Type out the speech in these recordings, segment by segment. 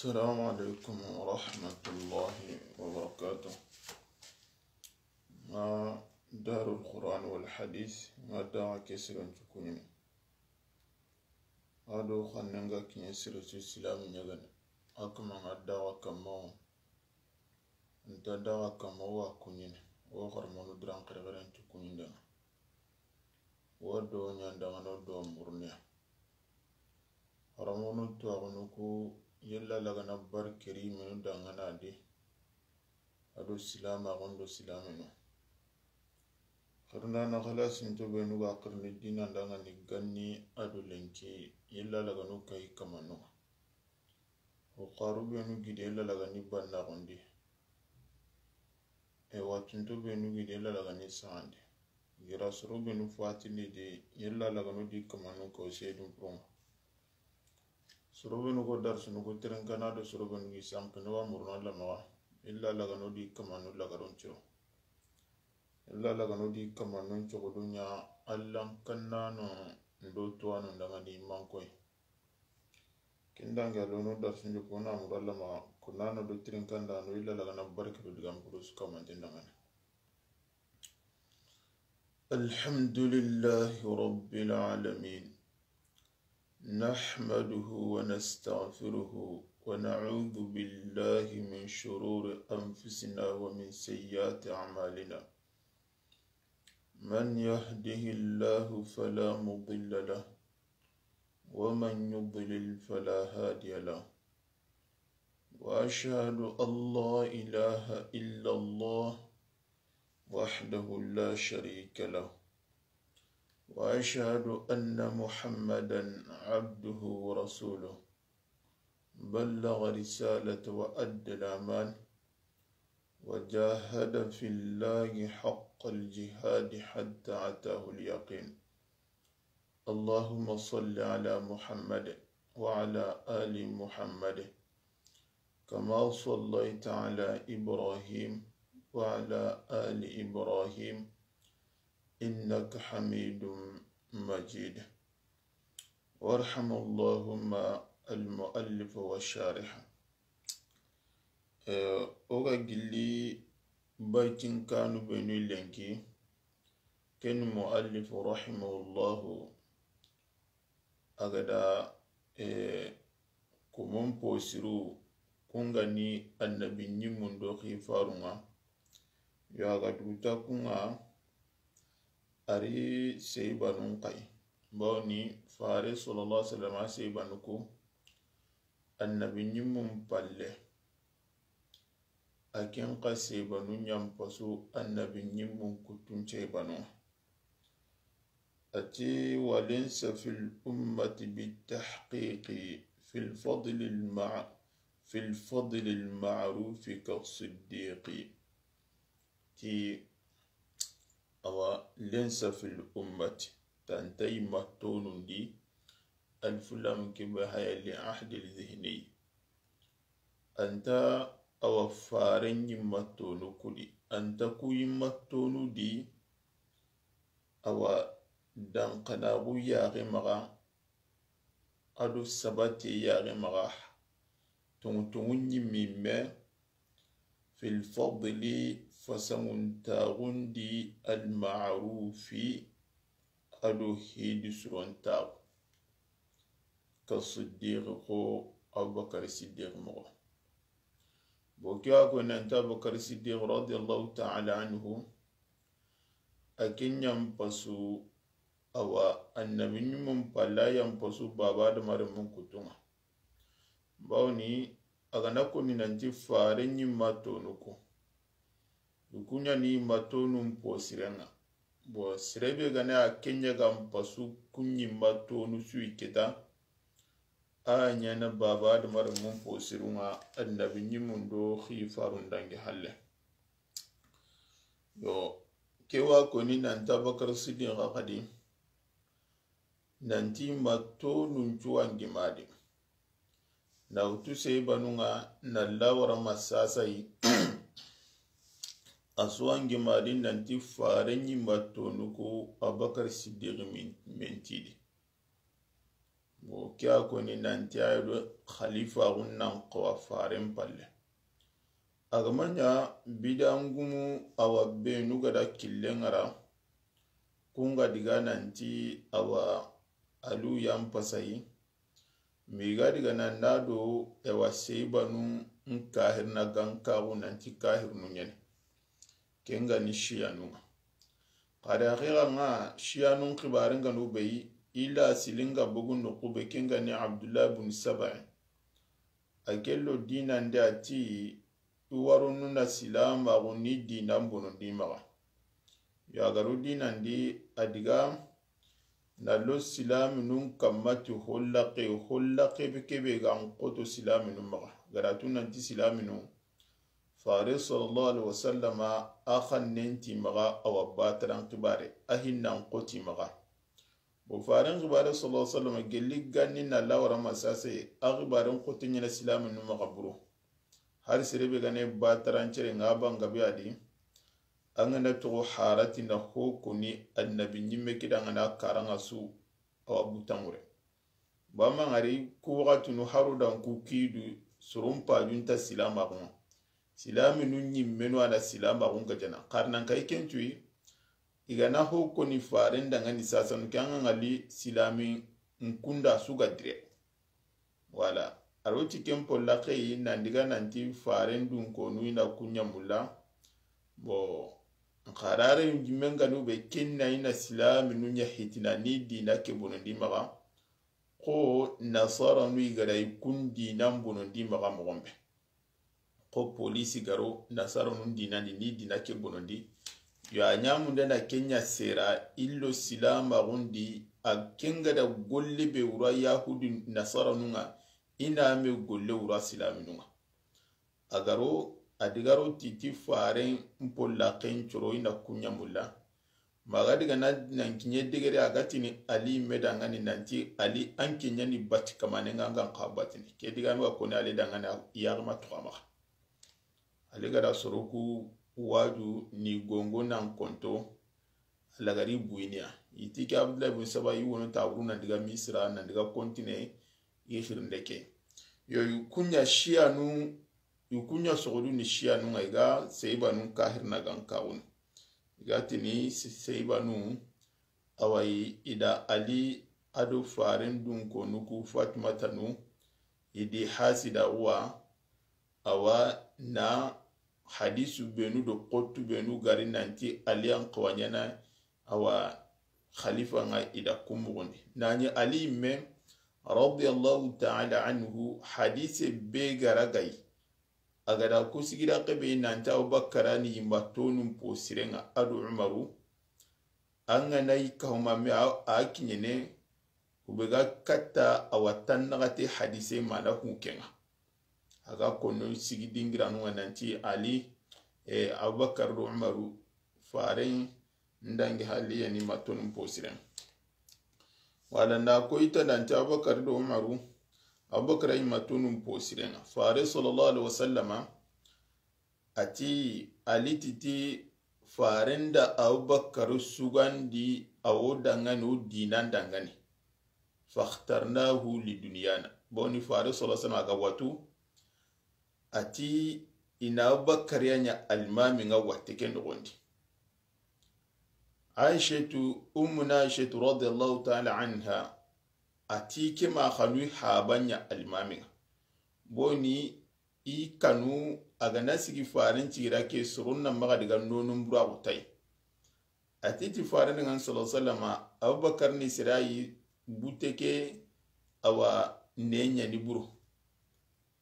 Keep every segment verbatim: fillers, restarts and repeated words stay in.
السلام عليكم ورحمة الله وبركاته. N ga Darul Quran wal Hadith, n ga daga ke siren cukunini. A do xannen ga kiɲe sire su silamu ɲagani. A kama n ga daga kamma wo. N ta daga kamma wo a kuɲini. Wo xaramonu diran xerexeren cukuninde. Wo do ɲandangano do murniya. Xaramonu tuwaxunu ku yella lagana barkeri menu dangana di. A do silamaxun do silaminu. Xirindana xalasinto benu ga xirini dinan dangani ganni a do lenki yella laganu kayi kamanu. O xaru benu gide yella lagani bannaxundi. E watunto benu gide yella lagani saxandi. Gira soro benu fatindi di yella laganu di kamanu ko sedun pronga. Soro benu ko darsunu ko terenkana do soro benu gi sankini wa muruna lamaxa. Illa lagano di kamanu lagarun ciro. Illa lagano di kamanu cogodunya allan kannano ndo tuwanu ndangani mankoy. Kindange lono darsunju kona murallama kunano do tirinkandano illa lagana barke do digam purus kamante ndangani. الحمد لله رب العالمين. نحمده ونستغفره ونعوذ بالله من شرور أنفسنا ومن سيئات أعمالنا. من يهده الله فلا مضل له ومن يضلل فلا هادي له. وأشهد أن لا إله إلا الله وحده لا شريك له. وأشهد أن محمدا عبده ورسوله. بلغ رسالة وأدى الأمان. وجاهد في الله حق الجهاد حتى أتاه اليقين. اللهم صل على محمد وعلى آل محمد كما صليت على إبراهيم وعلى آل إبراهيم إنك حميد مجيد. وارحم اللهم المؤلف والشارح. Eh, o ga gilli baytin kanu benu lenki, ken muallif rahimahullahu, a ga da, eh, komon posiru, kun ga ni annabi ɲimmun do xifarunga, yo a ga duta kunga, a ri seybanun xay. Bawni fare sallallahu alaihi wasallam a seybanu ku, annabi ɲimmun palle. A ken xa seybanu ɲampasu annabi ɲimmun kuttun ceybanu. A ti, وليس في الأمة بالتحقيق في الفضل المع-، في الفضل المعروف كالصديق. Ti, awa, ليس في الأمة, tanta i ma tonundi, alfulam ke be haya li ahdi lzihni. Anta awa faren ɲimma tonu kudi. Anta ku yimma tonu di, awa dankanaxu yaxe maxa, a do sabate yaxe maxa, tongu tongu ɲimmi me, في الفضل, fasanguntaxun di, المعروف, a do hidi surontaxu. Ka Siddiqi xo, Abubakar Siddiqi moxo. Bo ke wa ko nanti Abubakar Siddiqi radiyallahu ta'ala anhu, a ke ɲampasu, awa annabi ɲimmun palla ɲampasu baba adamarenmun kuttunga. Bawni a ga na koni nanti fare ɲimma tonu ku. I ku ɲa ni ma tonun posirenga. Bo sere be ga na a ke ɲa ga mpasu ku ɲimma tonu su i kita. A ɲa na baba adamarenmun posirunga annabi ɲimmun do xifarun dangi halle. Yo, ke wa koni nanti Abubakar Siddiqi xadi. Nanti ma tonun cuwangi madi. Na wutu seybanunga na lawara ma sasayi. A suwangi madi nanti fare ɲimma tonu ku Abubakar Siddiqi min-, mentidi. Bo Ke a koni nanti a yi do xalifaxun nan xawa faren palle. A ga ma ɲa bidangumu a wa benu ga da killen ŋa ra, kun ga diga nanti a wa Aliyu yan pasayi, mi ga diga nan da do e wa Seibanu n kahirina gankaxu nanti kahirinu ɲeni. Ken ga ni Shiyanun ŋa. Xa da axiran ŋa Shiyanun xibarin ga nu be yi, i la silinga bugu nuxu be, ken ga ni Abdullah bun Sabai. A ke lo dinan di a ti, i warunu na silamaxu ni dinan bonondi maxa. Yagaru dinan di a diga na lo silaminun kamma ti hollaqe, hollaqe be kebe ga n xoto silaminun maxa. Ga da tu nanti silaminu, Fare sallallahu alaihi wasallama a xannen ti maxa, a wa bataran xibare, a hinnan xoti maxa. Bo faren xibare sallallahu alaihi wasallama gelli ganni na lawara masase, a xibaren xote ɲana silaminu maxa buro. Har sere be ga ne batarancere ŋa ban gabe a di, an ga na toxo harati na ho koni annabi ɲimme kida ŋa na karan ŋa su a wa butamure. Ba ma ŋari ku waxatunu haru dan ku kidu soron pajunta silamaxun ŋa. Silaminu ɲimmenu a na silamaxun ga jana. Xari nan kay ken cuyi, i ga na ho koni faren da ŋa ni sasanu ke an ŋa ŋali silamin kunda su ga dire. Wala. A ro ti ken polla xeyi nan diga nanti faren dun konu i na kuɲa mulla. Bo, xarare jimenganu be ken na i na silaminu ɲa hitina ni dina ke bonondi maxa. Xo nasaranu i ga da i kun dinan bonondi maxa moxon be. Xo polisi garo nasaranu dinan di ni dina ke bonondi. Yo a ɲamunde na ken ɲa sera i lo silamaxun di, a ken ga da golle be wura yahudi nasaranu ŋa, i na me golle wura silaminu ŋa. A garo, a digaro titi faren polla ken coro i na kuɲa mulla. Maxa diga na nan kiɲe degere a ga tini Ali me da ŋa ni nanti Ali an ke ɲa ni bati kamane ŋa an ga n xa batini. Ke diga me wa koni Ali da ŋa ni yaxima tuxa maxa. Ali ga da soro ku waju ni gongo nan konto. Lagari buyiniya. I ti ke Abdullah bun Saba i wono taburu nan diga Misra nan diga kontine i xirinde ke. Yo i kuɲa Shiyanu, i kuɲa soxodu ni Shiyanun ŋa i ga Seibanun kahirina gankaxun. I ga tini Se-, Seibanu, a wa i da Ali a do faren dun konu ku Fatimatanu, i di hasida wa, a wa na hadisu benu do xottu benu gari nanti Ali an xawa ɲana, a wa xalifa ŋa i da ku moxon di. Na ɲi Ali me, radiyallahu ta'ala anhu, hadise be ga ra ga yi. A ga da ku sigira xebe nanti Abubakar ni yimba tonun po siren ŋa a do Umaru. An ga na yi kahuma me a, a kiɲene, ku be ga katta a wa tannaxate hadise mana ku ken ŋa. A ga konno sigi dingiranu ŋa nanti Ali, e, Abubakar do Umaru, faren ndangi hali yani matonun posiren. Wala nda ko ita nanti Abubakar do Umaru, Abubakar yi matonun posiren. Fare sallallahu alaihi wasallama, a ti Ali titi faren da Abubakar sugandi a wo dangani, o dinan dangani. Fakhtarnahu li dunyana. Boni fare sallallahu alaihi wasallam a ga watu, a ti i na Abubakar ya ɲa almami ŋa watte ke noxon di. Aishatu, ummuna Aishatu radiyallahu ta'ala anha, a ti ke ma xanu haba ɲa almami ŋa. Boni i kanu a ga na sigi faren cigira ke soron na maxa diga nonun buraxu tayi. A ti ti faren ŋa sallallahu alaihi wasallama, Abubakar ni sirayi bute ke a wa ne ɲa ni buru.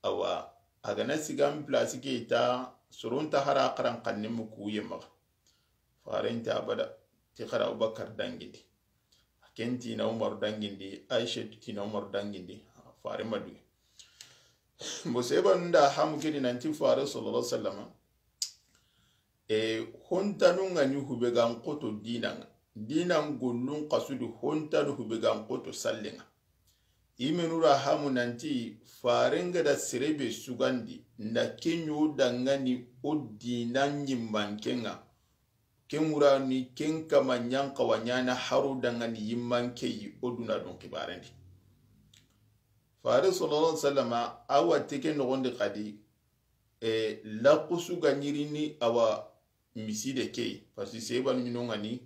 Awa, a ga na sigan place ke ta, soron ta hara xaran xanne mu kuye maxa. Faren ta abada, ti xara Abubakar dangindi. Ken ti na Umar dangindi, Aisha ti na Umar dangindi, fare ma duge. Bo seba nda hamu kedi nanti fare sallallahu alaihi wasallama. E, hontanu ŋa ni hube gan xoto dinan ŋa. Dinan gollun xasudi hontanu hube gan xoto sallen ŋa. I menu ra hamu nanti faren ga da sere be sugandi, nda ke ɲo dangani o dinan ɲimmanke ŋa. Ken wura ni ken kama ɲan xawa ɲana haro dangani yimmanke yi o duna don xibaren di. Fare sallallahu alaihi wasallama, a wa teke noxondi xadi, e, laxusu ga ɲirini a wa miside ke yi, parce que seyibanu ɲinongani,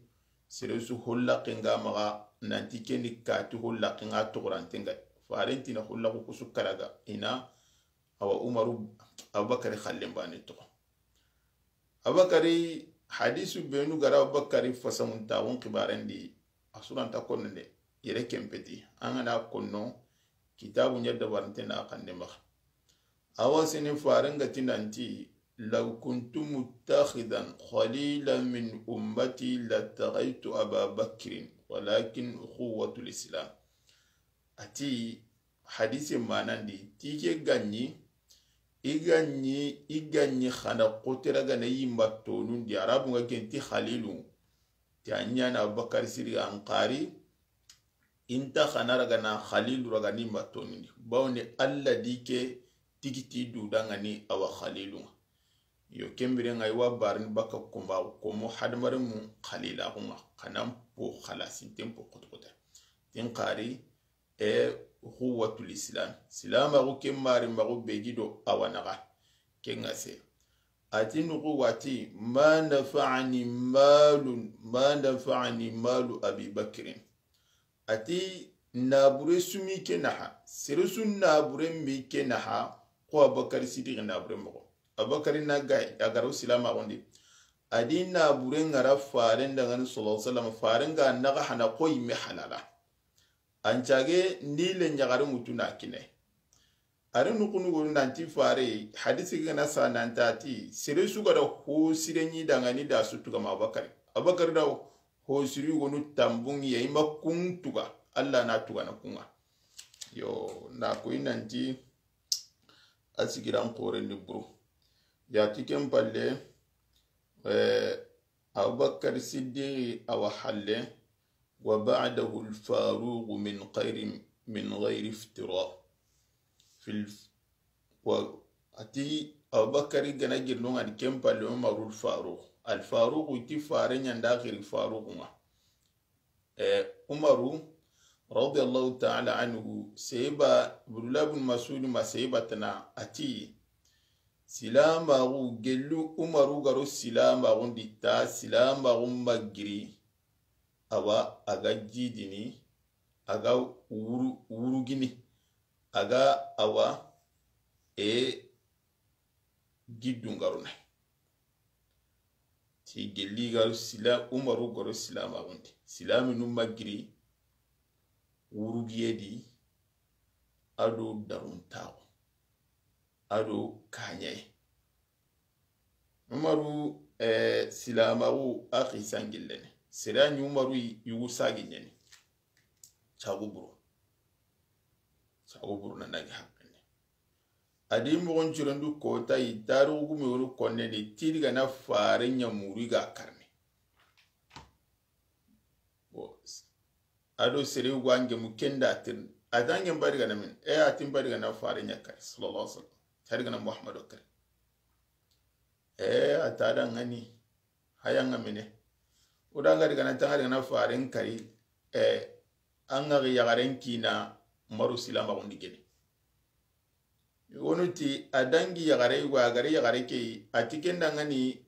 sere su hollaxen ga maxa, nanti keni kati hollaxen ga toxorante nga. Faren tina hollaxu kusu karaga, ina a wa Umaru, Abubakari xallen bane toxo. Abubakari, hadisu benu gara Abubakari fasamuntaxun xibarendi, a suranta konno de, yere kempeti, an gana konno, kitabu ɲa dabarante na xande maxa. Awa sene faren ga ti nanti, "Law kuntu muttakhidan khalilan min ummati lattakhaytu Aba Bakrin, walakin ukhuwatul Islam." A ti, hadise manandi, ti ke ga ɲi, i ga ɲi, i ga ɲi xana xotera gana yimba tonundi, Arabu nga ken ti Khalilu, ti a ɲana Abubakar Siddiq an xari, inta xana ragana Khalilu ragani yimba tonundi. Bawni Allah di ke tigiti du dangani a wa Khalilu nga. Yo, kembire nga i wa barini baka kumba, komo hadamare mu Khalilaxu nga, xana po xalasinten po xotoxote. Tin xari, e, ukhuwatul Islam. Silamaxu ke mari maxu be gi do a wa naxa. Ke nga se. A ti nuxu wati, "Ma nafa'ani malun, ma nafa'ani malu Abi Bakrin." A ti, "Nabure su mi ke naxa, sere su nabure mi ke naxa, ko Abubakar Siddiq nabure moxo." Abubakar na ga, a garo silamaxundi. A di nabure ngara faren dangani sallallahu alaihi wasallam, faren ga naxa hana ko yimme halala. An cage ni le ɲaxare mutu na kine. Ari nukunu gonu nanti fare, hadisi gana sa nanta ti, sere su ga da ho sire ɲi dangani da su tuga ma Abubakar. Abubakar da ho siri gonu tambun ya ima kun tuga, Allah na tuga na kunga. Yo, na koyi nanti, a sigiran xoren ni buru. Ya ti ken palle, eh, Abubakar Siddiqi a wa halle, "Wa ba'dahu al-Faruq min khairin min ghairi iftira." Fil, wa, a ti Abubakar gana girno nga di ken palle Umaru al-Faruq. Al-Faruq ti fare ɲanda xiri Faruq nga. Eh, Umaru, radiyallahu ta'ala anhu, seba, Abdullah bin Mas'ud ma seba tana a ti, silamaxu gellu Umaru garo silamaxun di ta, silamaxu magiri, awa, a ga jidini, a ga wuru-, wurugini, a ga awa, e, giddungaruna. Ti gelli garu sila, Umaru garo silamaxun di. Silaminu magiri wurugiye di, a do daruntaxu, a do kaɲaye. Umaru, eh, silamaxu a xisa ngillene. Sere a ɲi Umaru yugu sagi ɲeni. Cagu buru. Cagu buru na nagi haqqene. A di moxon cirendu kota yi, tarixu gume wonu konne ni, ti digana fare ɲa muri ga karne. Bon, a do sere yugo ange mu kenda tirni. A ta ange mbari gana min. E, a ti mbari gana fare ɲa kari, sallallahu alaihi wasallam. Tari gana Muhammadu kari. E, a ta da ngani. Haya nga mine. O da ngari gana tangari gana faren kari. E, an ga yaxaren kina maru silamaxun di geni. Wonu ti a dangi yaxare, wa gari yaxare ke yi, a ti kenda ngani,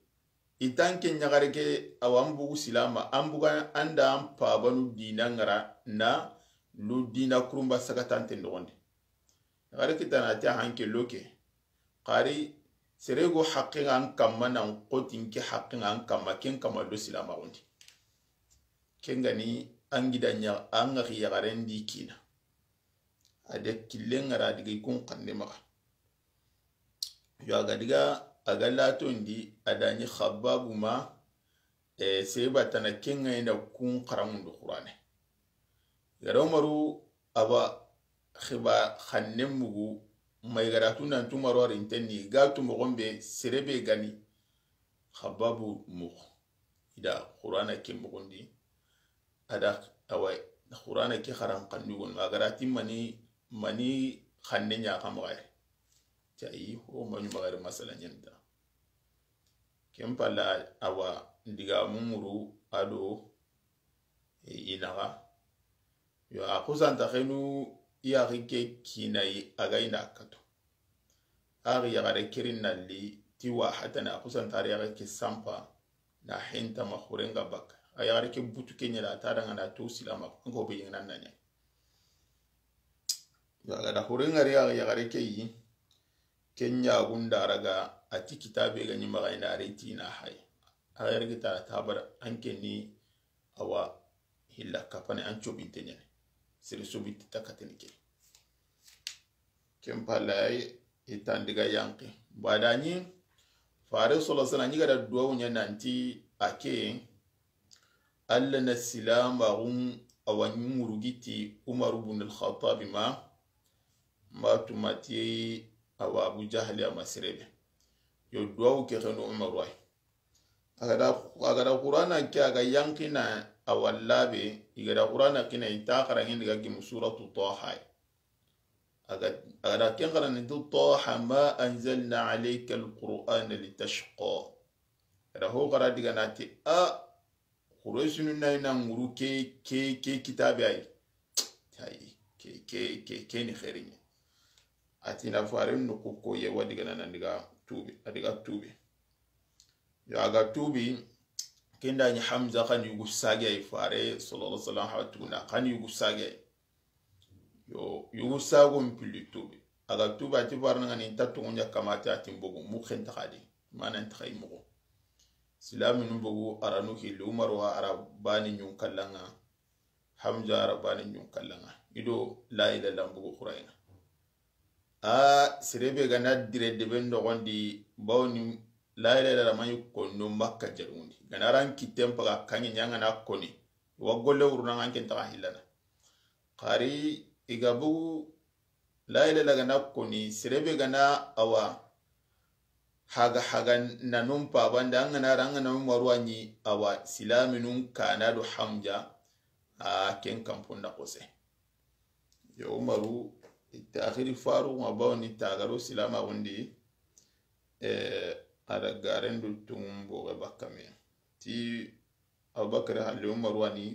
i tanke ɲaxare ke, awa an bugu silama, an buga an da an pabanu dina ngara na lu dina kurumba sagatante noxondi. Yaxare kitana a ti a hanke loke. Xari sere go haqqe nga an kamma nan xotin ke haqqe nga an kamma, ken kamma do silamaxun di. Ken gani an gida ɲa, an ga yaxaren di kina. A de killen ngara diga i kun xande maxa. Yo a ga diga, a ga latondi, a da ɲi Xababu ma, e, seba tana ken ga ina kun xaramundu Qur'ane. Gara Umaru a ba xiba xanne mugu, ma i gara tu nanti Umaru a rinten ni, ga tu moxon be, sere be gani, Xababu muxu. I da Qur'ana ke moxon di, a da, awa, Qur'ana ke xaran xannu gono, a gara ti mani, mani xanne ɲa xa maxa yere. Ti ayi, o maɲu maxa yere masala ɲanta. Ken palla, awa, diga mumuru a do, e, i naxa. Yo, a xusanta xenu yaxi ke kinayi a ga yi na kato. A yaxare kiri na li ti wa hatana, a xusanta yaxi ke sanpa na henta ma xurenga baka. A yaxare ke butu ke ɲa da, a ta danga na to silama, an ko be yingana na ɲa. A ga da xurenga ri a yaxare ke yi, ke ɲagun da raga, a ti kitabe ga ɲi maxa yi na ri ti na hay. A yaxare ke ta tabara an ke ni awa hilla kapane an cobinte ɲane. Sere sobinte takateni ke. Ken palaye i tandiga yanki. Badani fare solo sana ɲi ga da duwawu ɲa nanti a ke, Alla na silamaxun awa ɲi ŋurugiti Umaru bun al-Khattabi ma, ma tumati awa Abu Jahli a ma sere be. Yo duwawu ke xenu Umaru ay. A ga da, a ga da Qur'ana ke, a ga yankina a wallabe, i ga da Qur'ana kina i ta xarangin diga gimu suratu Taha. A ga, a ga da ken xarangin tu Taha ma anzalna alayka al-Qur'ana litashqa. A ga da ho xara diga na ti a Quraysinu na ina ŋuru ke, ke, ke kitabe ay. Tay, ke, ke, ke, ke ni xeeriɲe. A ti na faren no ko ko ye wa diga na nan diga tubi, a diga tubi. Yo a ga tubi, kenda ni Hamza xan yugu sage ay fare, sallallahu alaihi wasallam, ha tuguna, xan yugu sage ay. Yo, yugu sago mpili tubi. A ga tubi a ti farana ngani nta tungu ɲa kamata a ti mbogu, mu xenta xadi. Mana nta xay mbogu. Silaminu mbogu, aranu hilli, Umaru wa arabani ɲun kallanga. Hamza arabani ɲun kallanga. Ido la ilaha illallah mbogu xurayna. A sere be ga na dire debe noxondi, bawni la ilaha illallah mayi konno Makka jarundi. Ga na ran kitten paga kanŋe ɲa nga na koni. Wa golle wuruna nga ken taxa hillana. Xari i ga bugu la ilaha illallah ga na koni, sere be ga na awa haga haga na nun pabande, an ga na ra, an ga na Umaru wa ɲi awa silaminun kana do Hamza, a ken kanpon da xose. Yo Umaru, i ta axiri faru ma bawni tagaro silamaxundi, eh, a da garen do tun boxe bakka me. Ti Abubakar halle Umaru wa ni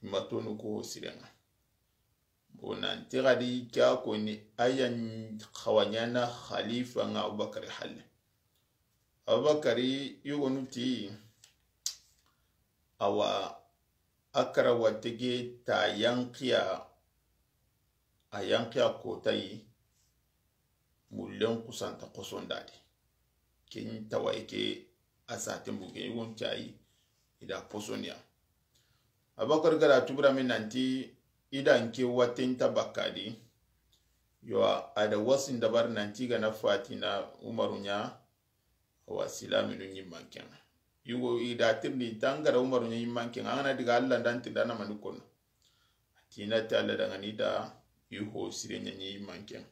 i ma tonu ko sirenga. Bo nanti xadi ke a koni a yan xawa ɲana xalifa nga Abubakar halle. Abubakar yogonu ti awa a kara watege ta yanqiya, a yanqiya kotayi, mullen kusanta kosondadi. Ken tawaye ke a saten buge yogon cayi i da posoniya. Abubakar ga da tubira min nanti i da nke watten ta bakkadi. Yo a da wasin dabar nanti ga na fatina Umaru ɲa, awa silaminu ɲimmanken. Yugo i da tirni tangara Umaru ɲa ɲimmanken, an ga na diga Alla ndan tirda na mani kono. A tina ti Alla dangani da i ho sire ɲa ɲimmanken.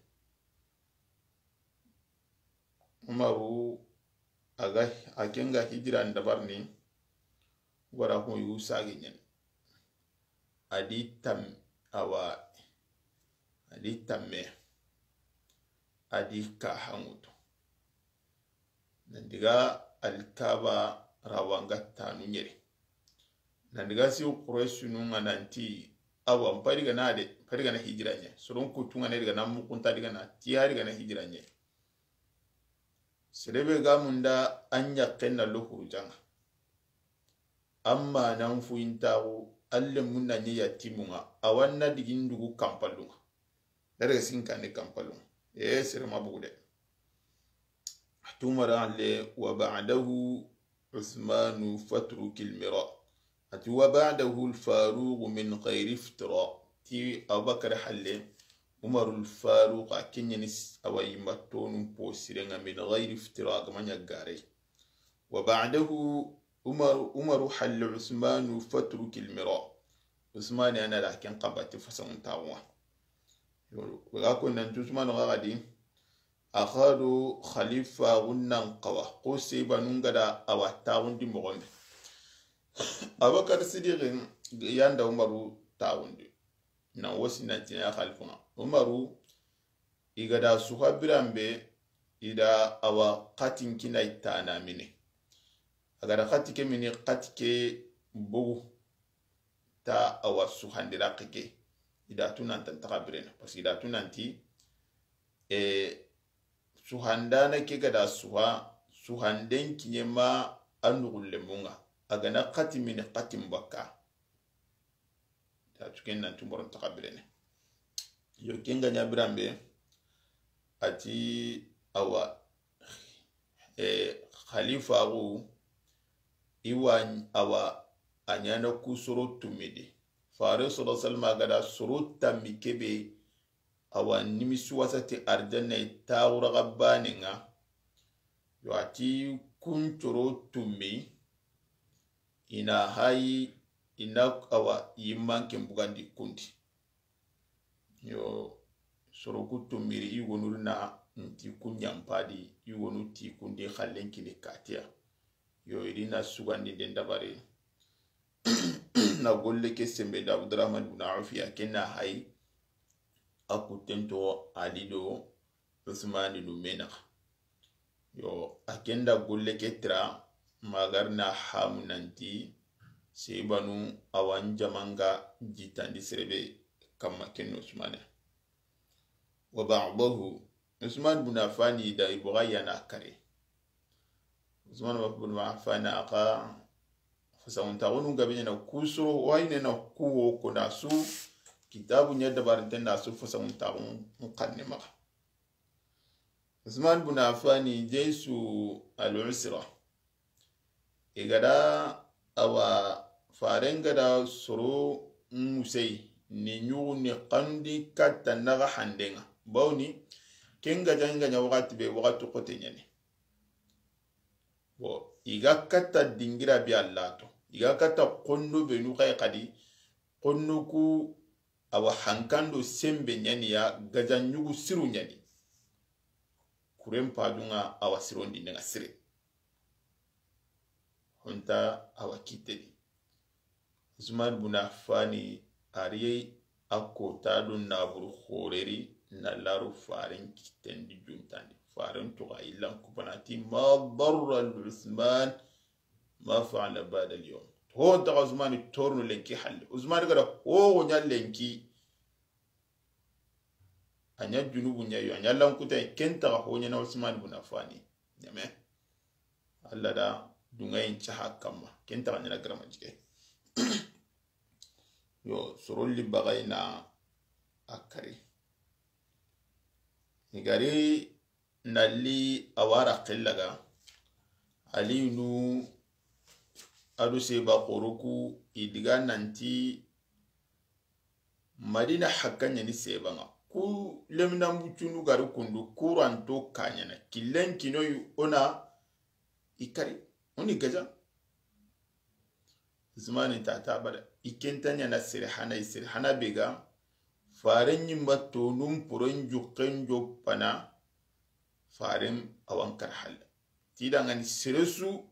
Umaru a ga, a ken ga hijira ndabarni, wara ko yu sagi ɲen. A di tam, awa, a di tamme, a di ka hangutu. Nan diga Alkaba rawanga tanu ɲeri. Nan diga si Qurayshinu nga nanti, awa, mpari gana de, mpari gana hijira ɲe. Soron kutunga ne diga na mukunta diga na, tiya diga na hijira ɲe. Serebe ga munda an ɲakken na lo hurujanga. Amma nan fu intaxu, alle mun na ɲi yatimunga, awanna digin dugu kampalunga. Daga sinkane kampalunga. E, sere ma bugu de. Tumara le, wa ba'dahu Usmanu fatrukil mira. Ati wa ba'dahu al-Faruq min ghayri iftira. Ti Abubakar halle, Umarul Faruq a kenyani s-, awa yimba tonun po sirenga min ghayri iftira, a ga ma ɲa gare. Wa ba'dahu Umar, Umaru halle Usmanu fatrukil mira. Usmani ana da ken kabati fasangun tawa. Yo, ga ko nan Usmanu ga gadi, a xa do xalifa gunnan xawa, ko seba nun ga da awa taxundi moxon be. Abubakar Sidiqi yanda Umaru taxundi. Na wosi na tiɲa xalifa nga. Umaru, i ga da suxa biran be, i da awa xatin kina i tana mine. A ga da xati ke mini, xati ke bogu. Ta awa suxandi raqe ke. I da tu nan tan taxa birene, parce que i da tu nanti, e, suhandana ke ga da suha, suhanden kiɲe ma a nuxulle munga, a ga na xati mini xatin bakka. I da tu ken nan tu moron taxa birene. Yo, ken ga ɲa biranbe, a ti, awa, e, xalifaxu, i wa, awa, a ɲana ku soro tumidi. Fare soro salma ga da soro tammi kebe, awa, nimisi wasati arjanna i taxuraxa banen ŋa. Yo, a ti kun coro tummi, i na hayi, i na, awa, yimmanken bugandi kundi. Yo, soro ku tummiri, i yugonu na nti ku ɲampadi, i yugonu ti kundi xallen kini katiya. Yo, i ri na sugandinden dabari. Na golle ke senbe da Abdurahman bun Awfi ya, ken na hayi a kutten to Ali do Usmani nu me naxa. Yo, a ken da golle ke tira, ma gari na hamu nanti, sebanu awa n jamanga jitandi serebe kamma ken Usmane. Wa ba'dahu, Usman bun Affani da i boga yana kare. Usman bun Affani a xa fasaxuntaxunu gabe ɲana ku soro, wayne na ku wo ko na su, kitabu ɲa dabarinten da su fasaxuntaxun xanne maxa. Usman bun Affani, jaysu al-usra. I ga da awa faren ga da soro musey ni ɲugu ni xandi katta naxa handenga. Bawni, ken ga janga ɲa waxati be, waxati xote ɲani. Bon, i ga katta dingira bi Allah to. I ga katta kondo be nu xay xadi, kondo ku awa hankando sembe ɲani ya, gaja ɲugu siru ɲani. Kuren padunga awa sirondi nenga sire. Honta awa kiteni. Usman bun Affani a ri a kota do naburu xoreri na laru faren kitendi juntandi. Faren tuga illan kubanati ma darra Usman ma fa'ala ba'da al-yawm. Ho daga Usmani torno lenki halle. Usmani ga da ho ɲa lenki. A ɲa junubu ɲa yo, a ɲa lankuta, ken taxa ho ɲana Usmani bun Affani. Ɲame. Allah da dungayin caha kamma. Ken taxa ɲana garama jike. Yo, sorolli bagay na a kari. Ni gari nalli a wara xellaga, Aliyunu a do seba xoroku i diga nanti Madina hakka ɲani sebanga. Ku leminan bucunu gari kundu kuranto kaɲana. Killen kinoyi ona i kari. Oni gaja. Usmani tata bada. I kenta ɲana sere hana, i sere hana bega. Faren ɲimba tonun poren jukken joppana. Faren awan kar halla. Tidangani seresu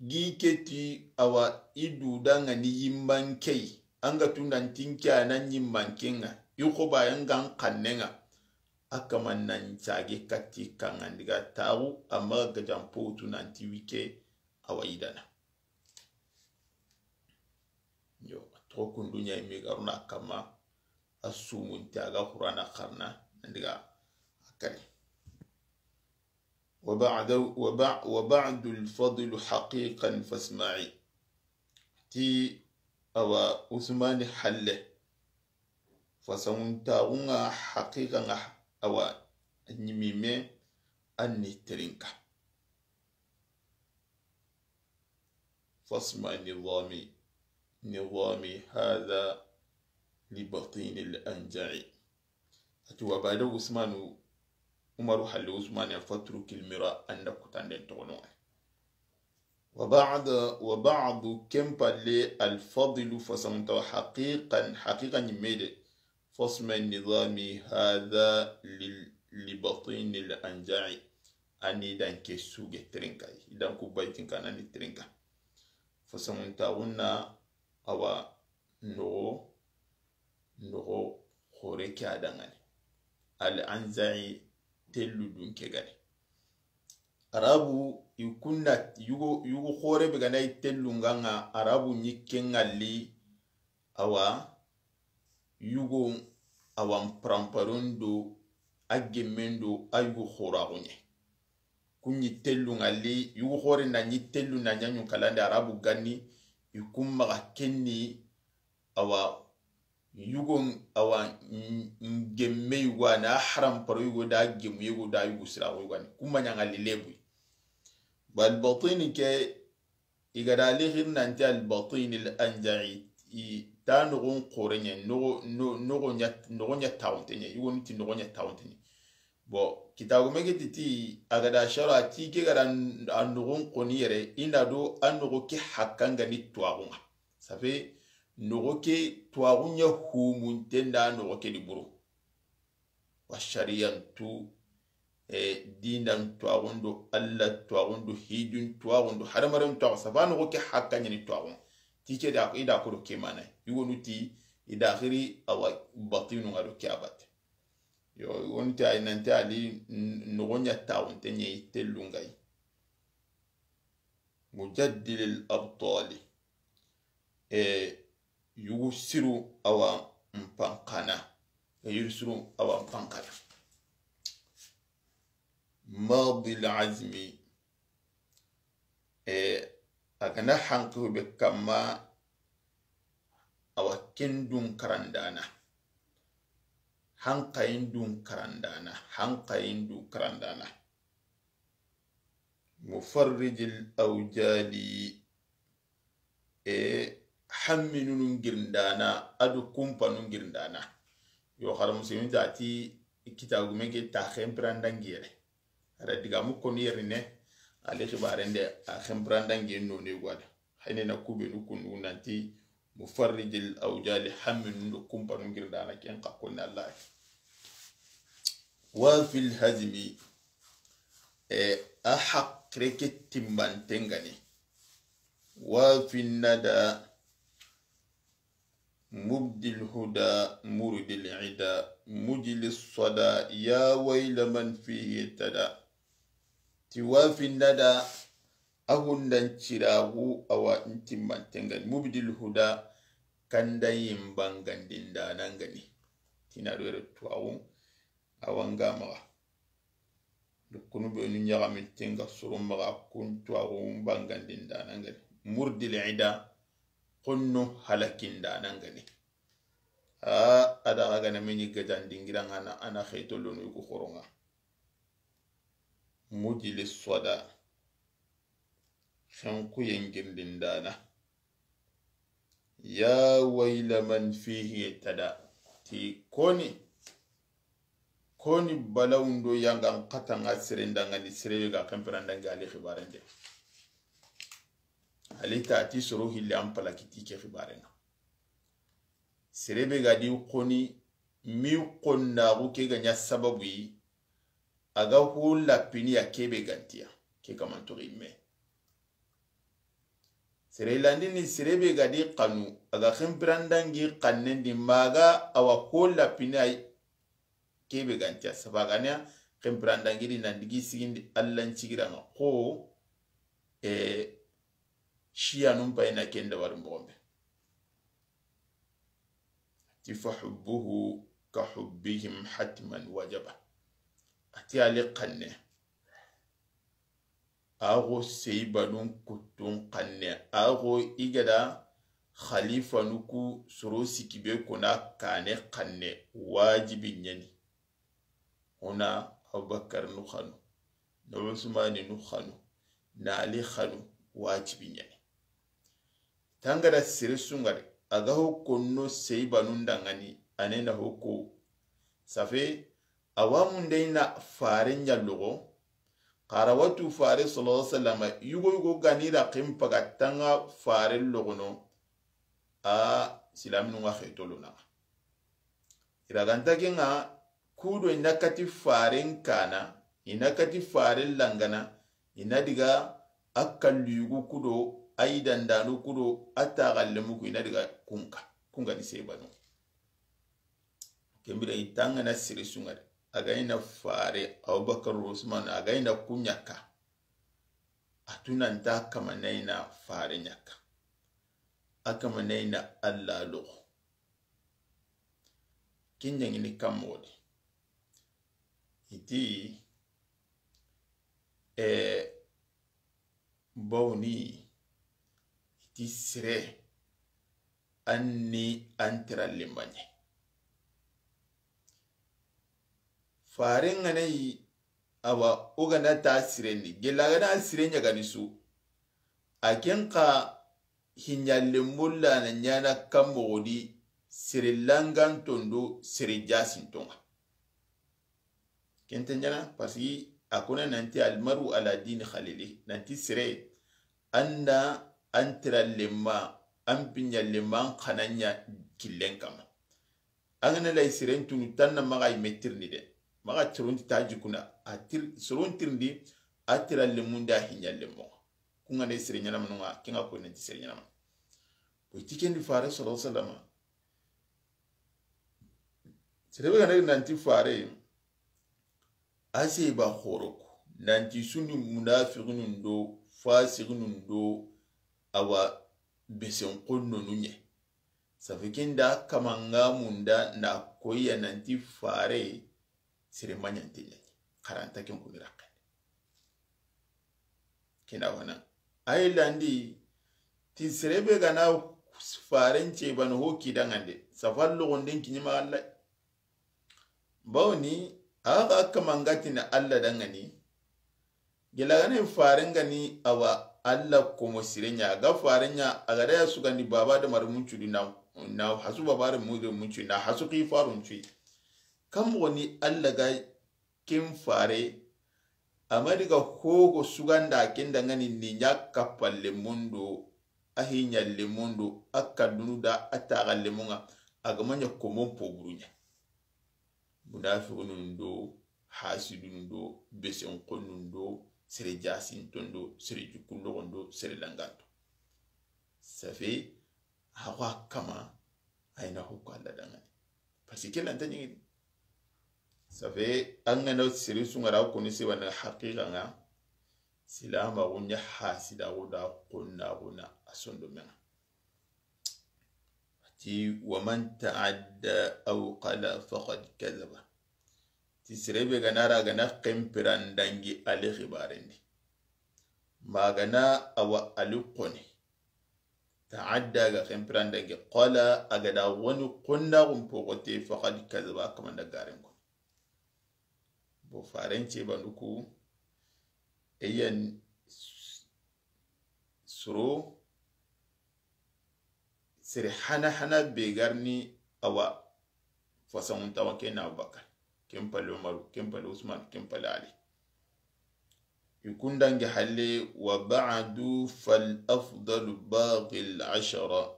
gi keti awa i dudangani yimbankey. Anga tundan tinke ana yimbankenga. I xobayangan kannenga. A kaman nan cage katti kangandiga taxu amma gajan potu nanti wike awa idana. Yo, a toxo kundu ɲa i mi garuna kamma, a sumunti a ga Qur'ana xarana, nandiga a kari. Wa ba'da, wa ba-, wa ba'du al-fadlu haqiqan fasma'i. Ti awa Usmani halle. Fasamuntaxunga haqiqanga awa ɲimime anni terinka. Fasma nizami, nizami hadha li batini al-anja'i. Ati wa bada Usmanu, Umaru halle Usmani ya fatrukil mira anda kutanden toxono. Wa ba'da, wa ba'du ken palle al-fadlu fasamuntaxu haqiqan, haqiqa ɲimmede. Fasma nizami hadha lil-, li batini al-anja'i. Ani dan ke suge terinka. Idan ku baytin kanani terinka. Fasamuntaxunna awa noxo, noxo xore ke adangani. Al-anja'i tellu dun ke gani. Arabu i kunna yugo, yugo xore be gana i tellunganga Arabu ɲikke ngalli awa yugo awa n paramparon do a gemmen do a yugo xoraxu ɲa. Ku ɲi tellu ŋalli, yugo xore na ɲi tellu na ɲa ɲunkalande Arabu ganni, i kun maxa kenni awa yugo awa n-, n-, gemme yugo a na haramparo yugo da gemu yugo da yugo siraxu yugo a ni. Ku ma ɲa ŋalli lebu. Ba albatini ke, i ga da li xiri nanti albatini al anja'i, i ta noxon xoreɲe, noxo, no-, noxo ɲa, noxo ɲa taxunte ɲe, yugo ni ti noxo ɲa taxunte ɲe. Bon, kitagume ke ti ti, a ga da shara ti ke ga da n-, a noxon xoni yere, i na do a noxo ke hakka ŋa ni tuwaxu ŋa. Ça fait, noxo ke tuwaxu ɲa humunte nda noxo ke di buru. Wa shariyantu, e, dinan tuwaxun do, Alla tuwaxun do, hijun tuwaxun do, hadamaren tuwaxu, ça fait noxo ke hakka ɲa ni tuwaxu. Ti ke da, i da ko do ke mana. Yugonu ti, i da xiri awa batinu ŋa do ke a batte. Yo, yugonu ti a yi nanti a li n-, noxo ɲa taxunte ɲe i tellu ŋa yi. Mujaddilil abtali. E, yugu siru awa n pankana. E, yugu siru awa n pankana. Madil azmi. E, a ga na hankayu be kamma awa ken dun karandana. Hankayin dun karandana. Hankayin dun karandana. Mufarrijil awjali. E, hamminunu ngirindana, a do kumpanun ngirindana. Yo, xara muslimin ta ti kitagume ke ta xempirandangi yere. A da digamu koni yere ne, a li xibarende a xempirandangi no ne gwada. Hayne na kubenu kundu nanti mufarrijil awjali, hamminun do kumpanun ngirindana ken xa koni Allah. Wa fil hazmi, e, a haqire ke timbanten ŋa ni. Wa fin nada, mubdil huda, murdil ida, mujlis sada, ya wayla man fihi tada. Ti wa fin nada, a hundan ciraxu awa n timbanten ŋa ni. Mubdil huda, kanda yin bangandindana ŋa ni. Ti na do yere tuwaxu awa n ga maxa. Dukunu benu ɲaxaminten ŋa soro maxa kun tuwaxu n bangandindana ŋa ni. Murdil ida, xonno halakindana ŋa ni. A, a da xa ga na me ɲi gajan dingira ŋa na, a na xeto lono yugo xoron ŋa. Mujlis sada, xenkuyen girindindana. Ya wayla man fihi tada. Ti koni, koni balawundo yangan xata ŋa sere nda ŋa ni sere be ga xempirandangi a li xibarende. A li ta ti soro hille an palaki ti ke xibaren ŋa. Sere be ga di xoni, mi xonnaxu ke ga ɲa sababu yi, a ga ho lapini ya ke be ga ntiya, ke kamantoxi me. Sere landini sere be ga di xanu, a ga xempirandangi xannen di maxa awa ho lapini ay, ke be ga ntiya sabagana xempirandangiri nan digi sigindi Alla n cigira ŋa xo, e, shiyanun payina ken dabari moxon be. Ti fa hubbuhu ka hubbihim hatman wajaba. A ti a li xanne. A xo seyibanun kuttun xanne, a xo i ga da xalifanu ku soro sikki be kona kane xanne, wajibi ɲa ni. Hona Abubakar nu xanu, na Usmani nu xanu, na Ali xanu, wajibi ɲa ni. Tangada sere su ŋa de, a ga ho konno seyibanun da ŋa ni, a ne na ho ko. Ça fait, awa munde i na fare ɲa loxo, xara watu fare sallallahu alaihi wasallam, yugo yugo ga ni ra ximpa ga tanga fare loxono, a silaminu ŋa xetolo na. I ra ganta ke ŋa, kudo i na kati faren kana, i na kati faren langana, i na diga a kallu yugu kudo, a yi dandanu kudo, a taxallemu ku, i na diga kunka, kunka ni sebanu. Kembira i tangana siri su ŋa de. A ga i na fare, Abubakar Usman, a ga i na kuɲaka. A tunanta kama na i na fare ɲaka. A kama na i na Alla loxo. ken ɲaŋini kan moxo di. I ti, eh, bawni, i ti sere, an ni an tira lemmaɲe. Faren ŋa na yi, awa, o ga na ta siren di, gella ga na siren ɲa ga ni su, a ken xa hiɲa lemmun la na ɲaana kan moxo di, sere langanton do sere jasinton ŋa. Ken ta ɲaana, parce que a ko na nanti almaru ala dini khalili, nanti sere, an na an tira lemma, an piɲa lemma, an xa na ɲa killen kanma. An ga na lay siren tunu, tan na maxa yi me tirindi de. Maxa soron ti ta jikuna, a tir, soron tirindi, a tira lemmun da hiɲa lemmo. Kun ŋa ne sere ɲaana manu ŋa, ken ŋa ko nanti sere ɲaana manu. Ko i ti ken di Fare sallallahu alaihi wasallam. Sere be ga na nanti Fare, a se ba xoro ko, nanti su ni munafiqinun do, fasiqinun do, awa, besen xonnonu ɲa. Safi ken da kamanga munda na koyi ya nanti Fare, sere maɲante ɲa. Xaranta ken kuni raxe. Kina wana. Ay landi, ti sere be ga na Faren cebanu ho kidaŋande, safar logonden kiɲi maxa Alla. Bawni, a ga kamanga ti na Alla daŋani, gella ga na Faren ga ni awa Alla komo sire ɲa, a ga Faren ɲa, a ga da ya sugandi baba da mari muncu di na, na hasu baba da mari muncu, na hasu ki farun cu. Kan moxo ni Alla ga ken Fare, a ma diga hogo suganda ken daŋani ni ɲa kappalle mundo, a hiɲalle mundo, a kaddunu da a taxalle mun ŋa, a ga ma ɲa komon poburu ɲa. Munafiqunun do, hasidunun do, besen xonnun do, sere jasinton do, sere jukulloxon do, sere langanto. Safe, a xo a kama, a yi na hukku Alla daŋani. Parce que ke lanta ɲiŋini. Safe, an ga na sere su ŋa ra koni se wani haqiqa ŋa, silamaxu ɲa hasidaxu da xonnaxu na a sondomen ŋa. A ti, wa man ta'adda aw qala faqad kadhaba. Ti sere be ga na ra ga na xenpiran dangi ali xibaren di. Ma ga na awa ali xoni. Ta'adda ga xenpiran dangi qala a ga da woni xonnaxun poxote faqad kadhaba kamanda garen ko. Bo Faren cebandu ku, eyan soro, sere hana hana be ga ri ni awa fasanŋuntawa, ken na Abubakar, ken palle Umaru, ken palle Usman, ken palle Ali. I kun dangi halle, wa ba'du fal afdalu baghil ashara.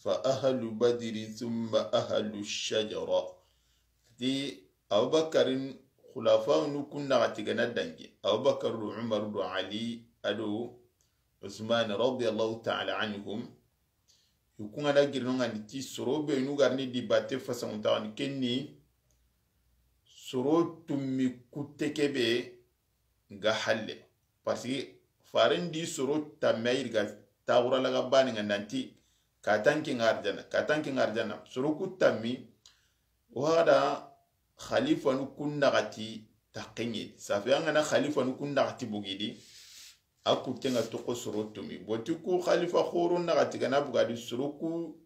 Fa ahlu badri thumma ahlu shajara. Ti Abubakarin khulafawunu kun naxati ga na dangi. Abubakar do Umar do Ali a do Usman radiyallahu ta'ala anhum. I kun ga na girino ŋa ni ti soro be nu ga ri ni di batte fasanŋuntaxani ken ni soro tummi kutte ke be ga halle. Parce que Faren di soro tammi a yi ri ga taxura laga bani ŋa nanti, ka tanki ŋa arjana, ka tanki ŋa arjana. Soro ku tammi, o hada khalifanu kun naxati taxenye. Safi an ga na khalifanu kun naxati bugidi, a kutte ŋa toxo soro tummi. Boti ku khalifa xoro naxati ga na bugadi soro ku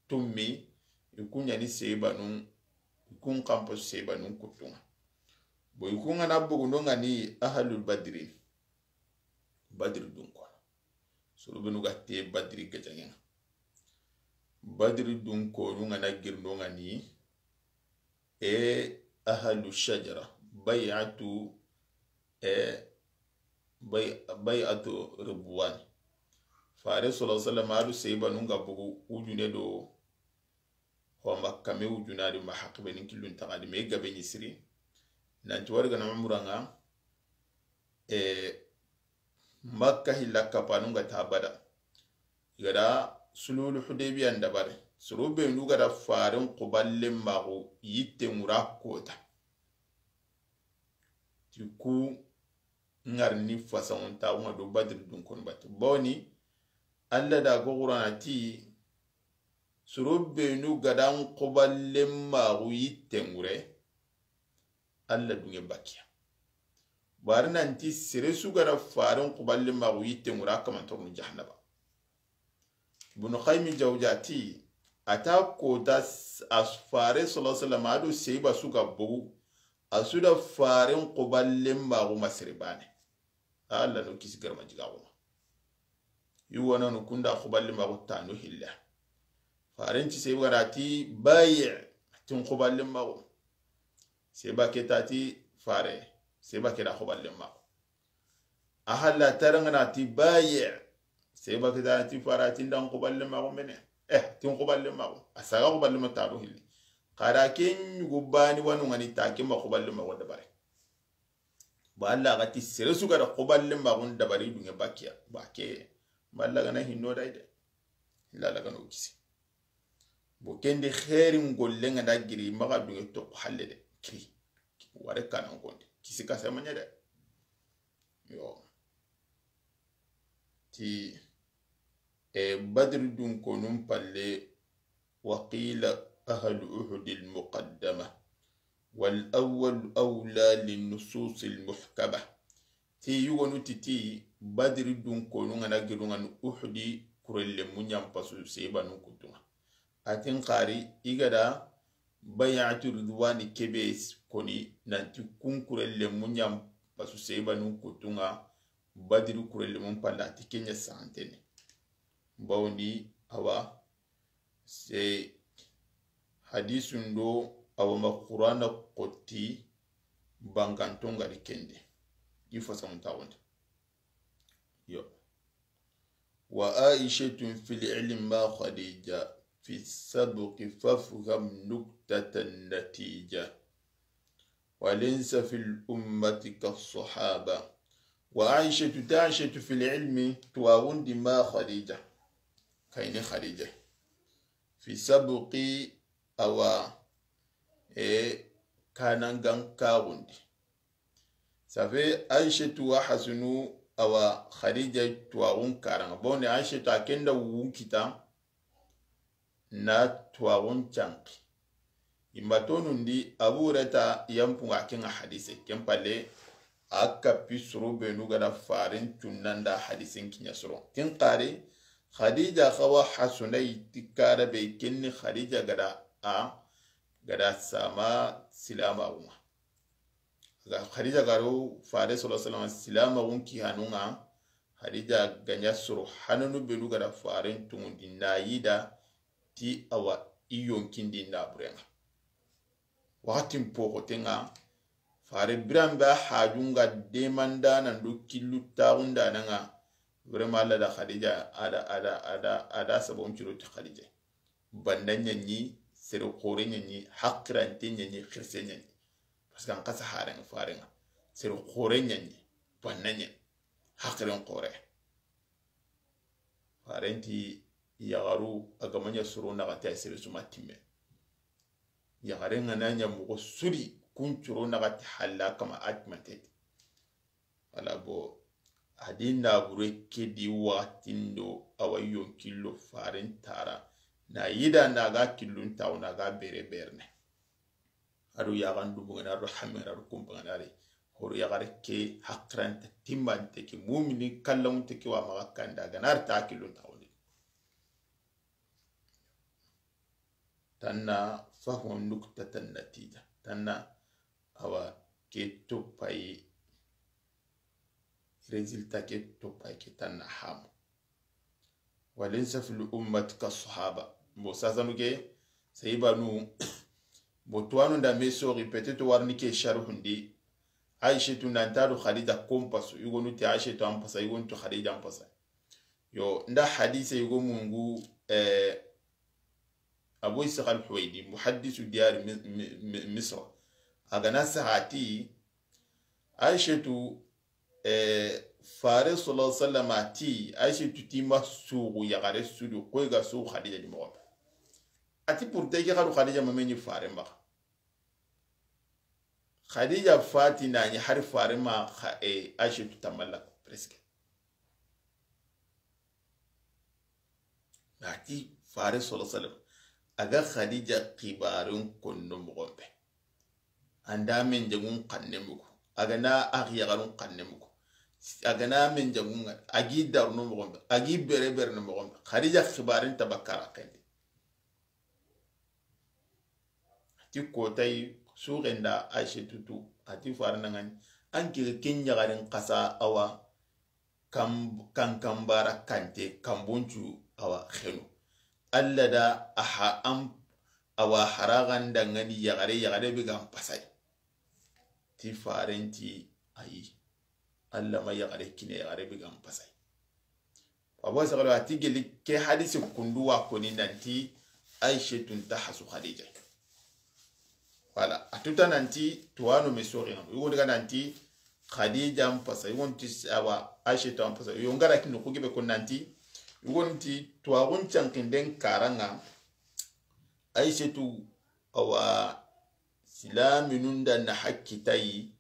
tummi, i kun ɲa ni sebanun, i kun xanpo sebanun kuttu ŋa. Bo i kun ga na bogundo ŋa ni ahlul badri, badri dun kono. Soro benu ga te badri gajaŋe ŋa. Badri dun konu ŋa na girno ŋa ni, e, ahlu shajara, bay'atu, e, bay, bay'atu ridwan. Fare sallallahu alaihi wasallam a do sebanun ga bugu wujune do, ho ma kame wujune a di ma haqi be ni killun taxadi me gabe ni siri. Nanti wari ga na umra ŋa, e, Makka hilla kapanu ga ta bada. I ga da sulhul Hudaybiya n dabari. Soro be nu ga da Faren xuballe maxu yitte ŋura kota. Ti ku ŋa ri ni fasanŋuntaxu ŋa do Badri dun konu batte. Bawni Alla da go Qur'ana ti, Soro benu ga da n xuballen maxu yitten ŋure, Alla dunŋe bakiya. Bari nanti sere su ga da faren xuballen maxu yitten ŋure, a kaman toronu jahannaba. Ibnu Qayyim Jawziya ti, a ta kota s-, a fare sallallahu alaihi wasallam a do seyba su ga bogu, a su da faren xuballen maxu ma sere bane. Alla no kisi garma jiga xuma. Yugo nanu kunda xuballen maxu tanu hilla. Faren ti seyba ga da ti bayi, tin xuballen maxu. Seyba ke ta ti fare, seyba ke da xuballen maxu. A halla tarangana ti bayi. Seyba ke ta ti fara ti ndan xuballen maxu mene. Eh, tin xuballen maxu. A saga xuballen ma tanu hilli. Xara ke ɲugu bani wanu ŋani ta ke ma xuballen maxu dabari. Ba Alla ga ti sere su ga da xuballen maxu dabari dunŋe bakiya. Ba ke, ma Alla ga na hinno day de. Illa Alla ga no kisi. Bo kendi xeerin golle ŋa da giri maxa dunŋe toxo halle de. Kiri. Ware kanan konde. Kisi kase maɲa de. Yo. Ti, e, Badri dunkonun palle, wa qila ahlu Uhudil muqaddama, wal awwal awla lin nususil muhkama. Ti yugonu ti ti Badri dunkonu ŋa na giru ŋa ni Uhudi kurelle muɲan pasu seybanun kutunŋa. A tin xari i ga da Bay'atu Ridwani kebe koni nanti kun kurelle muɲan pasu seybanun kutunŋa, Badri kurelle mun palla a ti ke ɲa santene. Bawni awa se hadisun do awa ma Qur'ana xotti banganton ga di kende. I fasamun taxunde. Yo. Wa Aishatun fil ilmi ma Khadija, fi sabqi fafham nuktatan natija. Wa laysa fil ummati kas sahaba. Wa Aishatu, ta Aishatu fil ilmi, tuwaxundi ma Khadija. Kayni Khadija. Fi sabqi awa, e, kanangan kaxundi. Ça fait Aishatu wa Hasunu awa Khadija tuwaxun karanŋa. Bon, Aishatu a kenda wunkita na tuwaxun canki. Imatonundi Abu Hurayra yanpunga kenga hadise. Ken palle a kappi soro benu ga da faren cunnanda hadisen kiɲa soro. Ken xari Khadija xawa Hasuna yi ti kara be kenni Khadija ga da a ga da sama silamaxunŋa. Ga Khadija ga ro fare sallallahu alaihi wasallam silamaxun ki hanunŋa. Khadija ga ɲa soro hananu benu ga da faren tunŋundi na yida ti awa i yonkindi na burenŋa. Waxatin poxotenŋa fare biranbe a hajunga demandanan do killu taxundananŋa. Vraiment Alla da Khadija ada ada ada ada sabon ciro ti Khadija. Banda ɲaɲi, sere xore ɲaɲi, haqirante ɲaɲi, xirse ɲaɲi. Parce que an xasa haren farenŋa sere xore ɲaɲi, banda ɲaɲi, haqiren xore. Farenti yaxaru a ga ma ɲa soro naxati a sere suma timme. Yaxaren ga na ɲa moxo suri kun coro naxati halla kama a timanteti. Wala bo a di nabure ke di waxatin do awa yonkillo faren tara na yida na ga killun taxu na ga bere berene. Ado yaxan dubungana ado hamera ado kumpangana ri horo yaxare ke haqirante timmante ke mumini kallamunte ke wa maxa kanda gana ri ta killun taxundi. Tanna fahmu nuktatan natija. Tanna awa ke topayi, résultat ke topayi ke tanna hamu. Walaysa fil ummati ka sahaba. Bo sasanu ke, sayibanu, bo tuwanu nda me sori, peut-être warni ke sharhundi. Aishatu nantado Khadija kompasu, yugonu ti Aishatu ampasa, yugonu ti Khadija ampasa. Yo, nda hadise yugo mungu, eh, Abu Ishaq al-Huwaidi, muhaddisu diyar Mi-, Mi-, Mi-, Misra. A ga na sahati, Aishatu, eh, fare sallallahu alaihi wasallam ati, Aishatu ti ma sugu yaxare sudu, koy ga sugu Khadija di moxo. Ati pourtant ke xadu Khadija ma meni fare maxa. Khadija fati na ni hari fare ma xa-, eh, Aishatu tamalla presque. Ati fare sallallahu alaihi wasallam. A ga Xadija xibaarun konno moxon be. An da menjaŋun xanne mugu. A ga na a xiyaxarun xanne mugu. A ga na menjaŋun ŋa, a gi daruno moxon be, a gi bere bereno moxon be. Xadija xibaarun ta bakka ra xendi. A ti kotayi suxen da Aysatu tu, a ti faare na ŋa ni, an ke ken ɲaxarin xasa awa kan, kan, kan bara kante, kan boncu awa xenu. Alla da a ha an awa haraxan da ŋa ni yaxare, yaxare be ga n pasay. Ti faaren ti ayi. Alla ma yaxare kine, yaxare be ga n pasay. Abu Sagalo a ti geli ke hadisi kundu wa koni nanti Aysatu nta hasu Xadija. Voilà, a tuta nanti tuwaano me soxi ŋa. Yugo daga nanti Xadija n pasa, yugo nti awa Aysatu n pasa. Yugo ngara kinu ku gibe ko nanti, yugo nti tuwaxun cankinden karaŋa Aysatu awa silaminun da na hakkitayi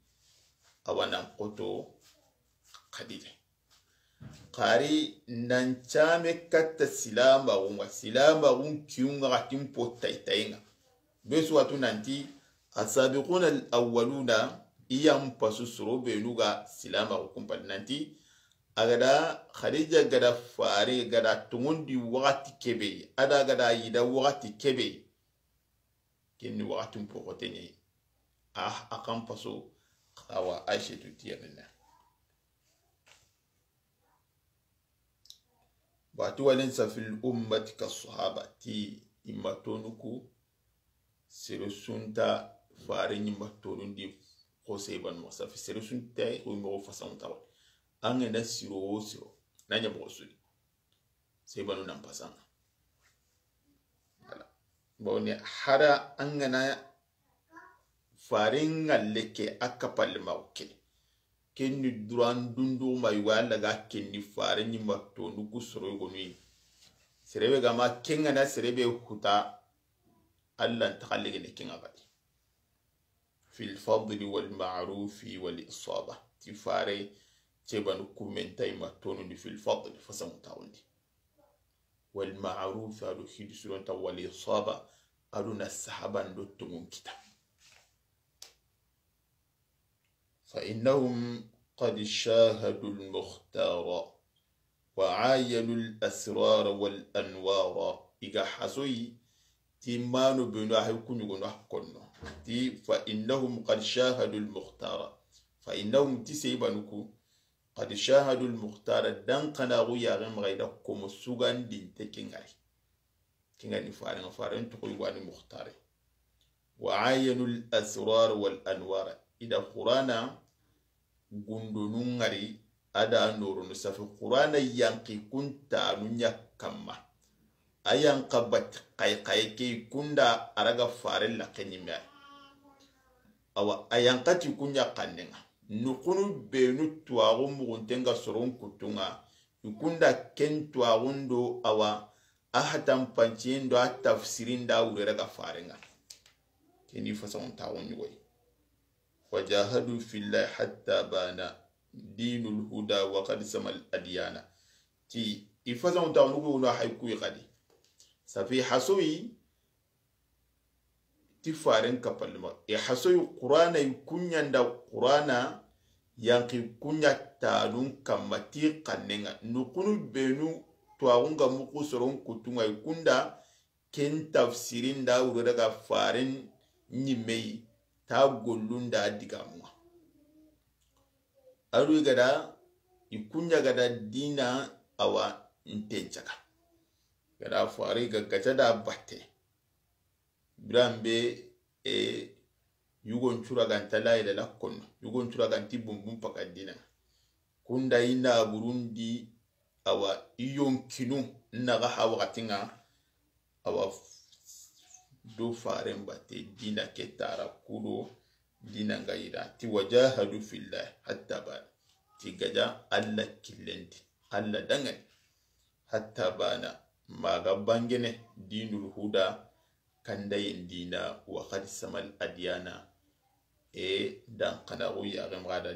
awa nan xoto Xadija. Xari nan came katta silamaxun ŋa, silamaxun kiyun ŋa xa tin po tayitayen ŋa. Be su wa tu nanti asabiquna al awwaluna, i yan pasu soro benu ga silamaxu kumpali nanti a ga da Xadija ga da faare ga da tongondi waxati kebe, a da ga da yida waxati kebe. Kenni waxatun poxote ɲa yi. A, a kan paso awa Aysatu tiyanene. Bati walaysa fil ummati ka sahaba ti i ma tonu ku sere su nta faare ɲi ma tonundi xo sey banu moxo safi sere su nta xo moxo fasaŋu tawa. An ga na siro wo siro na ɲa moxo sudi. Sey banu nan pasaŋa. Voilà. Bon, ne hara an ga na faaren ŋalle ke a kappalle ma ke. Kenni duran dundu ma yugo Alla ga kenni faare ɲi ma tonu ku soro yogonu yi. Sere be ga ma ken ga na sere be huta Alla nta xalle gene ken ŋa badi. Fil fadli wal ma'rufi wal isaba. Ti faare cebanu kumen tay ma tonundi fil fadli fasaŋu taxundi. Wal ma'rufi a do hidi suron ta wal isaba a do na sahaban do tongun kita. Fa innahum qad shahadu al mukhtara wa ayanu al asrara wal anwara. I ga hasoyi ti mano benu a hay kuɲugono a konno. Ti fa innahum qad shahadu al mukhtara. Fa innahum ti sey banu ku qad shahadu al mukhtara dan xanaxu yaxe maxa i da komo sugandinte ke ŋari. Ke ŋa ni farenŋa, faren toxoy wani mukhtare. Wa ayanu al asrar wal anwar. I da Qur'ana gundonu ŋari a da noronu safi Qur'ana yanqi kuntanu ɲa kamma. A yanqa bati xay xay ke kunda a raga faren laxe ɲimme ay. Awa a yanqati kuɲa xannenŋa. Nuxunu benu tuwaxu muxuntenŋa soron kuttunŋa. I kunda ken tuwaxun do awa a hatanpanciyen do a tafsirin da wure raga farenŋa. Keni fasaŋun taxun ɲugoy. Wajahadu fillahi hatta bana dinul huda wa qad samal adiyana. Ti i fasaŋun taxun ɲugoy wono hay kuy xadi. Safi hasoyi ti faren kapalima. I hasoyi Qur'ana i kuɲanda Qur'ana yanqi kuɲa tanun kamma ti xannenŋa. Nuxunu benu tuwaxunŋa muxu soron kuttunŋa i kunda ken tafsirin da wuro daga faren ɲimmey ta gollun da digamunŋa. Adu i gada i kuɲa gada dina awa ntencaga. Gada fari ga gaca da batte. Biran be e yugon cura ganta la ila la konno. Yugon cura ganti bumbum paka dina. Kunda i na burundi awa i yonkinu naga ha waxatinŋa. Awa do faren batte dina ke tara kudo dina nga yira ti wajahadu fillahi hatta ba ti gaja Alla killendi Alla dangani hatta bana maga bangene dinul huda kandayen dina wa qad samal adiyana e dan xanaxu yaxe maxa da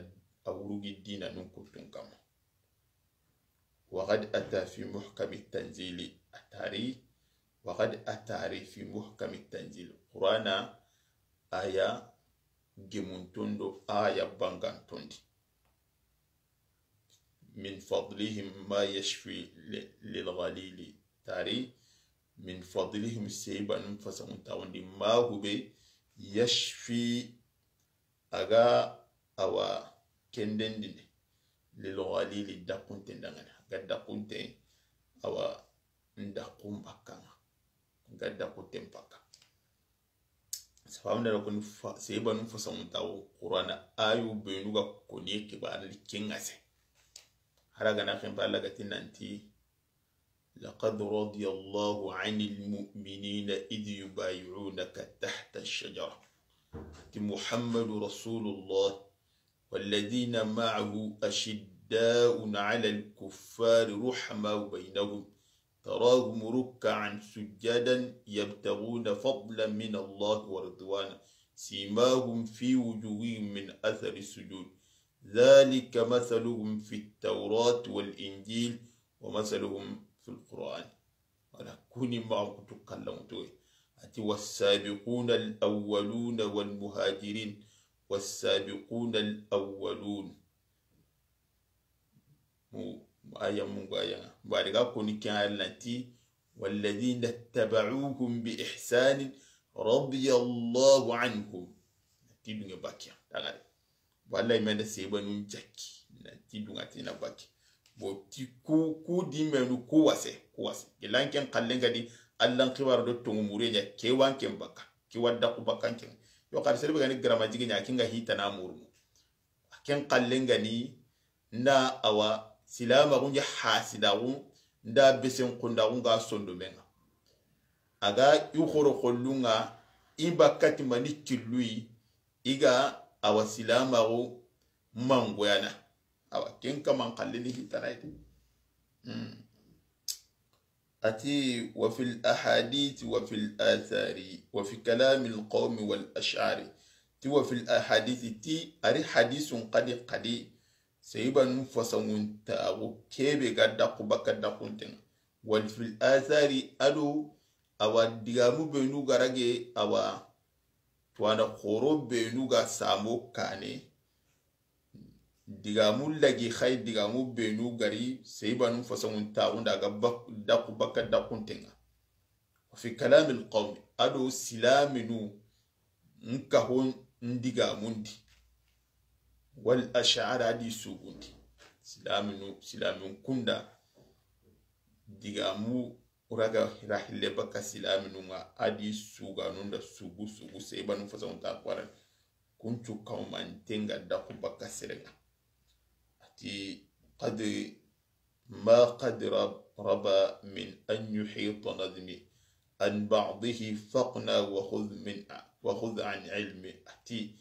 a wurugi dina nun kuttun kamma. Wa qad ata fi muhkami tanzili a tari Wa qad atari fi muhkami tanzil. Qur'ana aya gemuntondo, aya bangantondi. Min fadlihim ma yashfi li-, lil ghalili. Tari, min fadlihim, seybanun fasamuntaxundi, ma hube, yashfi, a ga awa kendendini, lil ghalili, daxunten dangana, a ga daxunten, awa, n daxun bakka ŋa, a ga daxunten bakka. Sababu nda koni fa-, seybanun fasamuntaxu, Qur'ana ayu benu ga koni xibaare di ken ŋa se. Hara gana xenpa, Alla ga ti nanti, لقد رضي الله عن المؤمنين إذ يبايعونك تحت الشجرة. Ti محمد رسول الله والذين معه أشداء على الكفار رحماء بينهم تراهم ركعا سجدا يبتغون فضلا من الله ورضوانا سيماهم في وجوههم من أثر السجود ذلك مثلهم في التوراة والإنجيل ومثلهم في القرآن. Wala kuni maxa kutu kallanŋutoye. A ti, والسابقون الأولون والمهاجرين والسابقون الأولون. Mu, mu aya mungu aya ŋa. Bari ga koni ken aya nanti, والذين اتبعوهم بإحسان رضي الله عنهم. Ti dunge bakiya. Dagare. Wallahi, men da sebanun jakki. Na ti dunga ti na bakki. Bo ti ku, ku di menu ku wase, ku wase. Ilan ken xallen ga di, Allan xibaare do tongu mure ɲa, ke wan ken bakka. Ke wadda ku bakkan ken. Yo, xar serbe ga ni garama jige ɲa, kinga hitana murunu. Ken xallen ga ni, nda awa, silamaxu ɲa hasidaxu, nda besen kundaxu nga sondomen ŋa. A ga i xoro xollun ŋa, i bakka ti mani killuyi, i ga awa silamaxu mangoyana. Awa, ken kaman xallen ni hitana ite. Hmm. A ti, وفي الأحاديث وفي الآثار وفي كلام القوم والأشعار. Ti وفي الأحاديث ti, a ri hadisun xadi xadi. Seyibanun fasangun taxu kebe ga daxu bakka daxunten ŋa. وفي الآثار a do awa digamu benu ga rage awa tuwana xoro benu ga samo kane. Digamu lagi xay digamu benu ga ri seyibanun fasangun taxu nda ga bak-, daxu bakka daxunten ŋa. وفي كلام القوم a do silaminu n kaho n digamundi. والأشعار a di sugundi. Silaminu, silamin kunda digamu raga rahille bakka silaminu ŋa a di suganun da sugu sugu seyibanun fasangun taxu xaran. Kuncu kawmanten ga daxu bakka seren ŋa. A ti قد ما قد رب-، ربا من أن يحيط نظمي عن بعضه فاقنع وخذ من، وخذ عن علمي. A ti,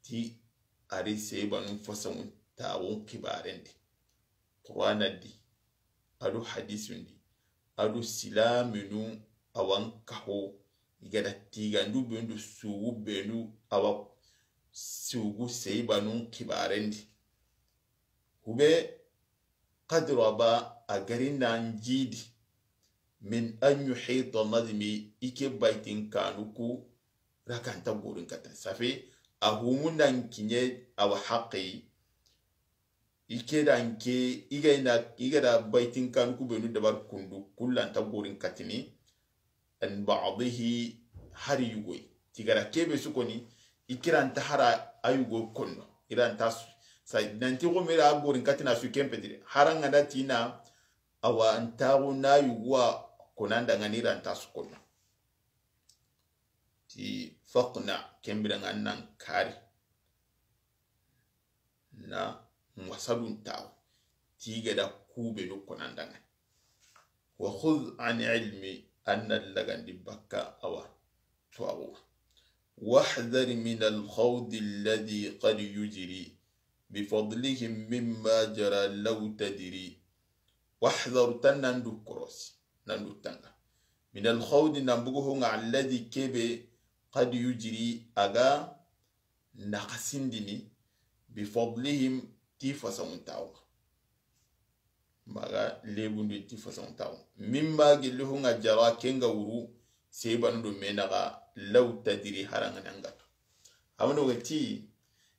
ti a ri seyibanun fasangun taxun xibaren di. Qur'ana di, a do hadisun di, a do silaminu awan kaho, i ga da tigandu benu do sugu benu awa sugu seyibanun xibaren di. Hube قد ربا a ga ri nan jidi من أن يحيط نظمي i ke baytin kanu ku raganta gorin katta. Ça fait, a humu nan kiɲe awa haqi. I ke dan ke, i ga ina, i ga da baytin kanu ku benu dabar kundu, kullanta gorin katini. عن بعضه hari yugoy. Tigara kebe su koni, i kiranta hara a yugo konno. Iranta su, sa, nanti go mera gorin katina su kempetire. Haranga da tina, awa ntago na yugo a konanda ngani iranta su konno. Ti فاقنع, kembira nga nan kari. Na wasadun tawo. Ti ga da kube do konanda nga. وخذ عن علمي an na lagandi bakka awa tuwaxu. واحذر من الخوض الذي قد يجري بفضلهم مما جرى لو تدري. واحذر, tan nan du korosi, nan du tanga. من الخوض, nan bugu honga, الذي, kebe, قد يجري, a ga naxasindini, بفضلهم, ti fasamuntaxu. Maxa lebundu ti façon tawo. Min ba gilli hu ŋa jara ken ga wuru, seyibanu do me naxa, law tadiri harangana ngatu. Amano ga ti,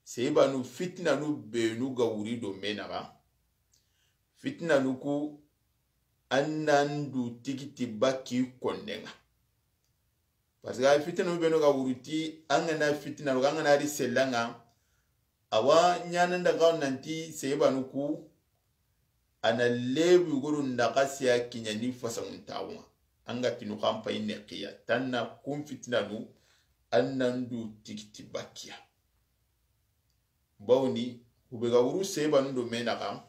seyibanu fitinanu benu ga wuri do me naxa. Fitinanu ku, an nan du tigiti bakki konne ŋa. Parce que a fitinanu benu ga wuru ti, an ga na fitinanu, an ga na ri sella ŋa, awa ɲaana nda ga nanti seyibanu ku, a na lebu guru nda ga siya kiɲa ni fasangun tawo ŋa. An ga tinu xanpa inne xiya, tanna kun fitinanu, an nan du tigiti bakkiya. Bawni, hube ga wuru seyibanu do me naxa,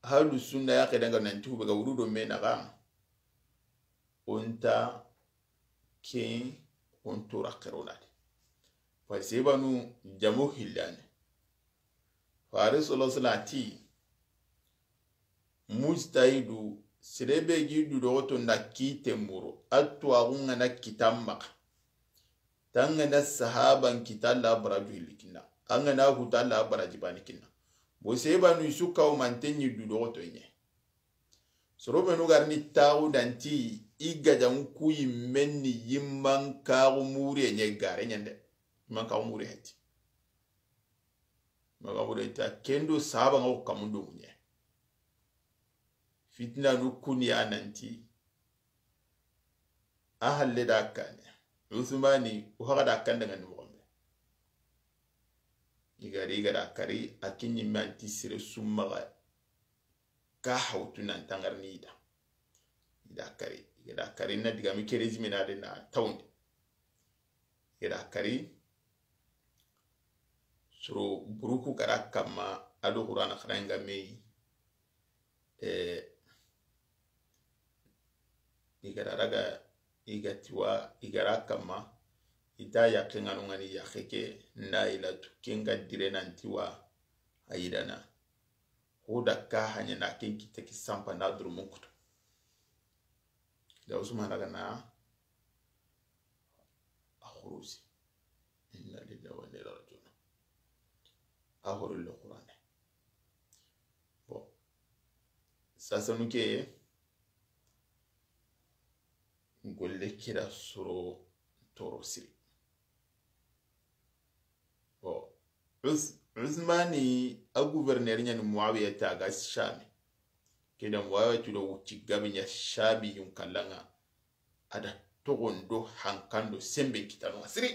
halu sunna ya xedanga nanti hube ga wuru do me naxa, onta ken onto raxeronade. Parce que seyibanu jamo hillane. Fare sallallahu alaihi wasallam ti, mujtahidu, sere be gi du doxoto nda kite muro, a tuwaxu ŋa na kita maxa. Tangana sahaban kita la baraju hilli kinna. Angana huta la baraji bani kinna. Bo seyibanu i su kawo manten ɲi du doxoto ɲe. Soro benu ga ri ni taxu danti i gajaŋu ku yimmen ni yimman kaxu mure ɲe gare ɲande. Yimman kaxu mure heti. Maxa wure ta kendo sahaba ŋa wo kamundo ŋuɲe. Fitinanu kuni ya nanti, a halle da kane. Usmani, o haga da kanda ŋa ni moxo be. I ga ri, i ga da kari, a kiɲi me anti sere su maxa. Ka hawtu nan tangar ni da. I da kari, i ga da kari na diga mi kerezi me na de na tawndi. I ga da kari, soro buruku kara kamma, a do Qur'ana xaranŋa me yi. Eh, i ga da raga, i ga tiwa, i ga ra kamma, i ta yaxe ŋa no ŋa ni yaxe ke, na i la tu, ken ga dire nan tiwa, a yi dana. Ho da ka haɲa na ken kite ki sampa na duru mun kutu. Da Usmana ga na a xurusi. Inna lillahi wa inna ilaihi raji'un. A xoro le Qur'ane. Bon. Sasanu ke golle kira soro toro siri. Bon. Us-, Usmani a gouverneur ɲa ni Muawiya ta ga Shami. Keda Muawiya tudo wuti gabi ɲa Shami yun kalla ŋa. A da toxon do hankan do sembe kitano ŋa siri.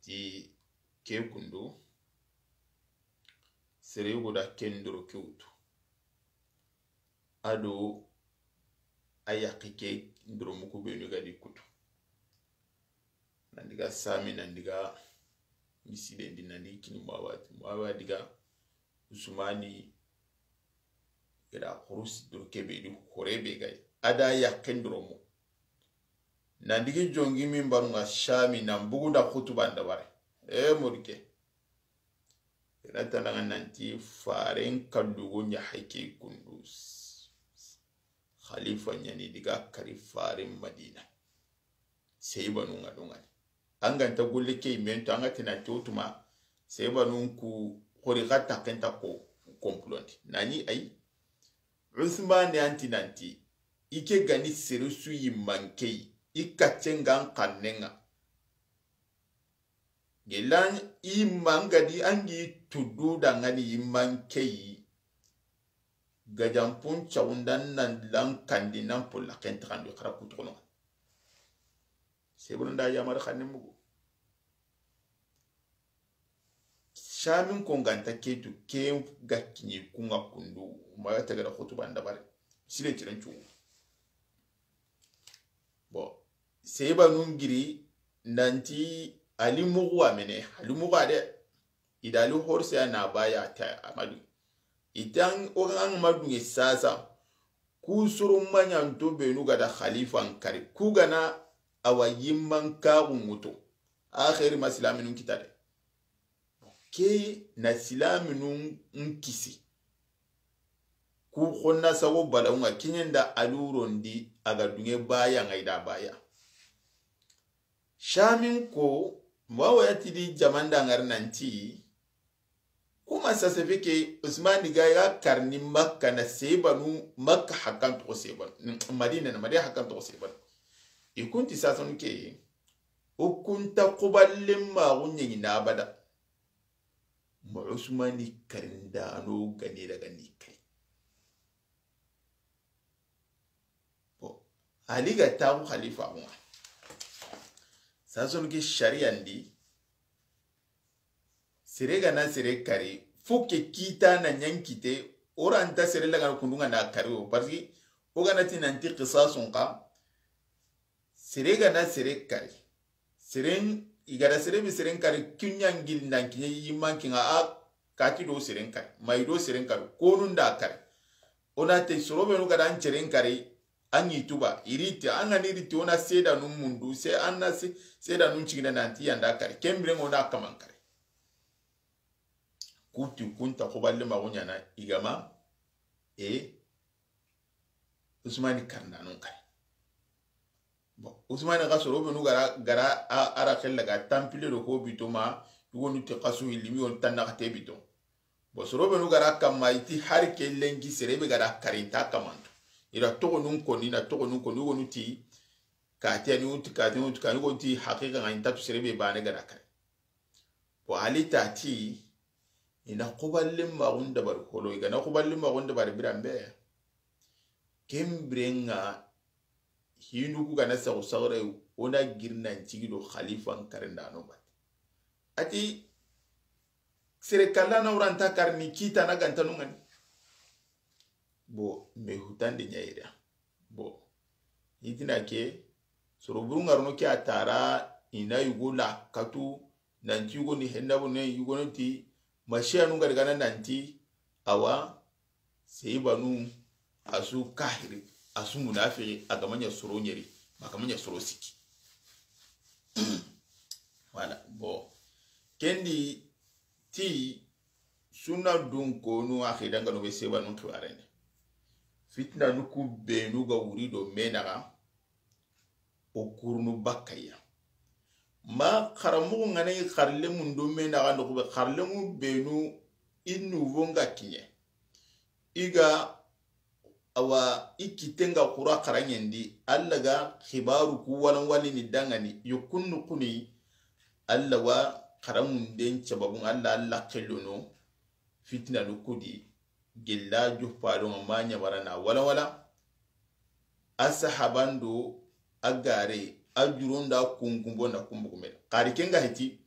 Ti ke kundu, sere yugo da ken doro ke wutu. A do a yaxe ke doro muku benu ga di kutu. Nan diga Sami, nan diga misidendi, nan diga kini Muawiya ti. Muawiya diga Usmani gada xurusi doro kebe di xore be gay. A da yaxe doro mu. Nan digi jongi minbaru ŋa Shami nan bugu da xutuba nda bare. E modi ke. Ina tana ŋa nanti faren kallugo ɲa hake kundu. Khalifa ɲa ni diga kari faren Madina. Seyibanu ŋa do ŋa ni. An ga nta golle ke men to, an ga tina to tuma, seyibanu ku xori xa ta kenta ko complot ndi. Nani ay, Usmane anti nanti, i ke ga ni sere su yimman ke yi, i kacce ŋa n xanne ŋa. Gelan i mangadi angi tudu dangani i mankeyi. Gajampun cawundan nan lankandi nan polla kentaxandi xara kutoxono. Sebulunda yamar xanne mugu. Samin ko nganta ketu ke ga kiɲi kunga kundu ma tagara xutuba ndabare. Sile tiran cu. Bon, seba nun giri nanti ali mugu amene, ali mugu ade. Idali horse ya na baya ta amadu. Itan o an madu nge sasa. Ku suru manyanto benu gada khalifan kari. Ku gana awa yimman kagu muto. Akhiri ma silaminun kitade. Ke na silaminun n kisi. Ku xonna sago balawunga kiɲenda alurondi aga dunge baya nga ida baya. Samin ko Muawiya ti di jamanda ŋari nanti, kuma sasa feke Usmani ga ya karni Makka na sebanu, Makka hakkan toxo sebanu, Madina na Madina hakkan toxo sebanu. I kunti sasanu ke, o kunta kuballen maxu ɲeŋi na abada. Ma Usmani karindano gani daga ni kari. Bon, Ali ga taxu xalifa ŋa. Sasonu ke sariyan di, sere ga na sere kari, fo ke kita na ɲankite, o ra nta sere lagana kundunŋa na kari o, parce que o ga na ti nanti qisasun xa, sere ga na sere kari. Seren, i ga da sere be seren kari, kiɲangil nan kiɲe yiman kiŋa a kati do seren kari. Ma i do seren kari, konu nda kari. O na te soro be nu ga da an seren kari, an yi tuba, i ri ti, an ga ni ri ti, o na sedanun mundu, se an na se, sedanun cigina nanti yanda kari. Kembiren o na kaman kari. Kuti kunta kuballe maxu ɲana, i ga ma, e, Usmani karindano kari. Bon, Usmani xa soro be nu gara, gara a, a ra xella ga tampile do ko bito ma, yugonu ti xasu hilimi on tanna xate bito. Bon, soro be nu gara kamma i ti hari ke lenki sere be gara karinta kamanto. I ra toxonun koni, na toxonun koni, yugonu ti kati ani, yugonu ti kati, yugonu ti kati, yugonu ti haqiqa ŋa inta tu sere be bane gara kari. Bon, Ali ta ti, i na kuballen maxun dabari holo, i ga na kuballen maxun dabari biranbe. Kembiren ŋa, hinu ku ga na saxu saxure, o na girinan cigi do xalifan karindano bate. A ti, sere kalla na wuranta karni kita na gantanu ŋani. Bon, me hutande ɲa yere. Bon, i tina ke, soro buru ŋarono ke a tara, i na yugo la katu, nanti yugo ni henda bo ne, yugo ni ti, masiyanu ga daga na nanti, awa, seyibanu, a su kahiri, a su munafiki, a ga ma ɲa soro ɲeri, ma a ga ma ɲa soro siki. Voilà, bon. Kendi ti sunna dun konu a xidangano be seyibanu xibarene. Fitina nu ku benu ga wuri do me naxa, o kurunu bakkaya. Ma xaramuxu ŋa na i xarlemun do me naxa noxu be xarlemu benu i nuvo nga kiɲe. I ga awa i kitten ga xura xaraŋen di, Alla ga xibaru ku walanwalini dangani, yokkunnu kuni, Alla wa xaramunden sababun, Alla, Alla xellono, fitina nu kudi, gella juppalon ma ɲamarana walanwala, a sahabando, a gare, a juronda kunkumbo na kumbukumel. Xari kenga heti,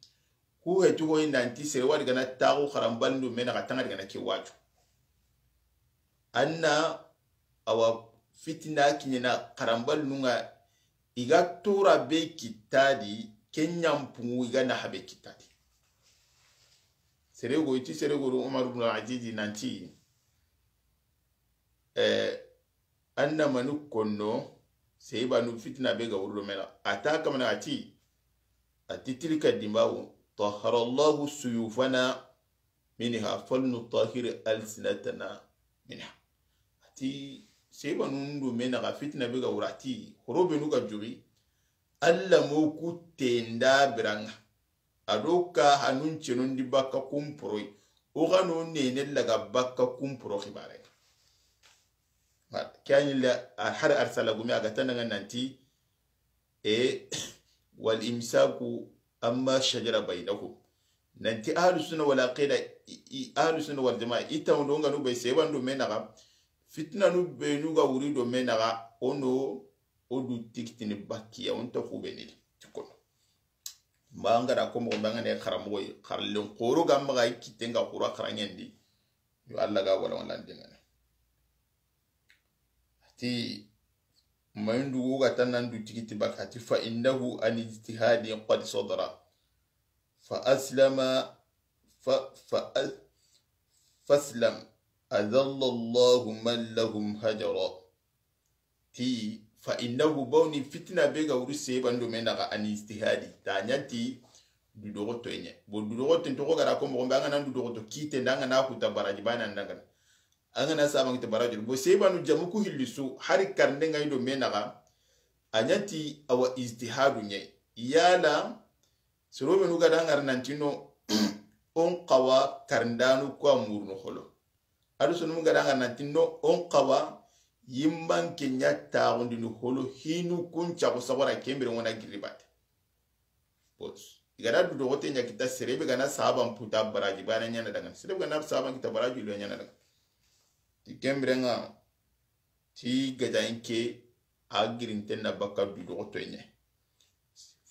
ku heti hoyi nanti sere wadi gana taxu xaranbalindu me naxa tanga di gana ke waju. Anna awa fitina kiɲena xaranbalinunga i ga tora be kittadi, ke ɲampungu i ga naxa be kittadi. Sere go iti sere go do Umar ibn Azizi nanti, eh, anna manu konno, seyibanu fitina be ga wurlo mena. A ta kamana a ti, a ti tilka dimawu, tahara Allahu suyufana minha, falnutahhir alsinatana minha. A ti, seyibanu ndu me naxa fitina be ga wura ti, horo benu ga juri, Alla mo ku tenda biranga. A do ka hanun cenondi bakka kumporoy. O xano nene laga bakka kumporo xibare. Voilà. Ke a ɲi la, a, har arsala gumi a ga tananga nanti, e, wal imsaku amma shajara bainakum. Nanti ahlu sunna wal aqida, i, i, ahlu sunna wal jamaa, i tawndo nganu be seyibanu do me naxa, fitina nu benu ga wuri do me naxa, ono o du tikitini bakkiya, o nta xubeni ti kono. Ma an ga da ko moxo be an ga ne xaramoxo yi, xarlen xoro ga maxa i kitten ga xura xaraŋen di, yo Alla ga wala wala ndengane. Ati, mayindu wo ga tan nan du tikiti baka, ati, fa innahu an ijtihadi qad sadara. Fa aslama, fa, fa, faslam. Adalla Allahu man lahum hajara. Ti, fa innahu, bawni fitina be ga wuri seyibanu do me naxa, an ijtihadi. Ta ɲa ti, dudoxoto ɲa. Bo dudoxoto ntoxo ga da ko moxo be, an ga na dudoxoto kite, nda an ga na kuta baraji bana ndangana. An ga na saba ngite baraji. Bo seyibanu jamu ku hilli su, hari karnde nga i do me naxa, a ɲa ti awa ijtihadu ɲa. Yala, Soro benu ga da ŋari nanti no, o n xawa karindanu ku a murunu holo. A do sonu ga da ŋari nanti no, o n xawa yimban ke ɲa taxundini holo, hinu kun caxu sagora kembire ŋona giribate. Bos. I ga da du doxote ɲa kita sere be ga na sahaban puta baraji bana ɲana dangani. Sere be ga na sahaban kita baraji lo ɲana dangani. Ti kembire ŋa ti gajaŋen ke a girinten na bakka du doxoto ɲa.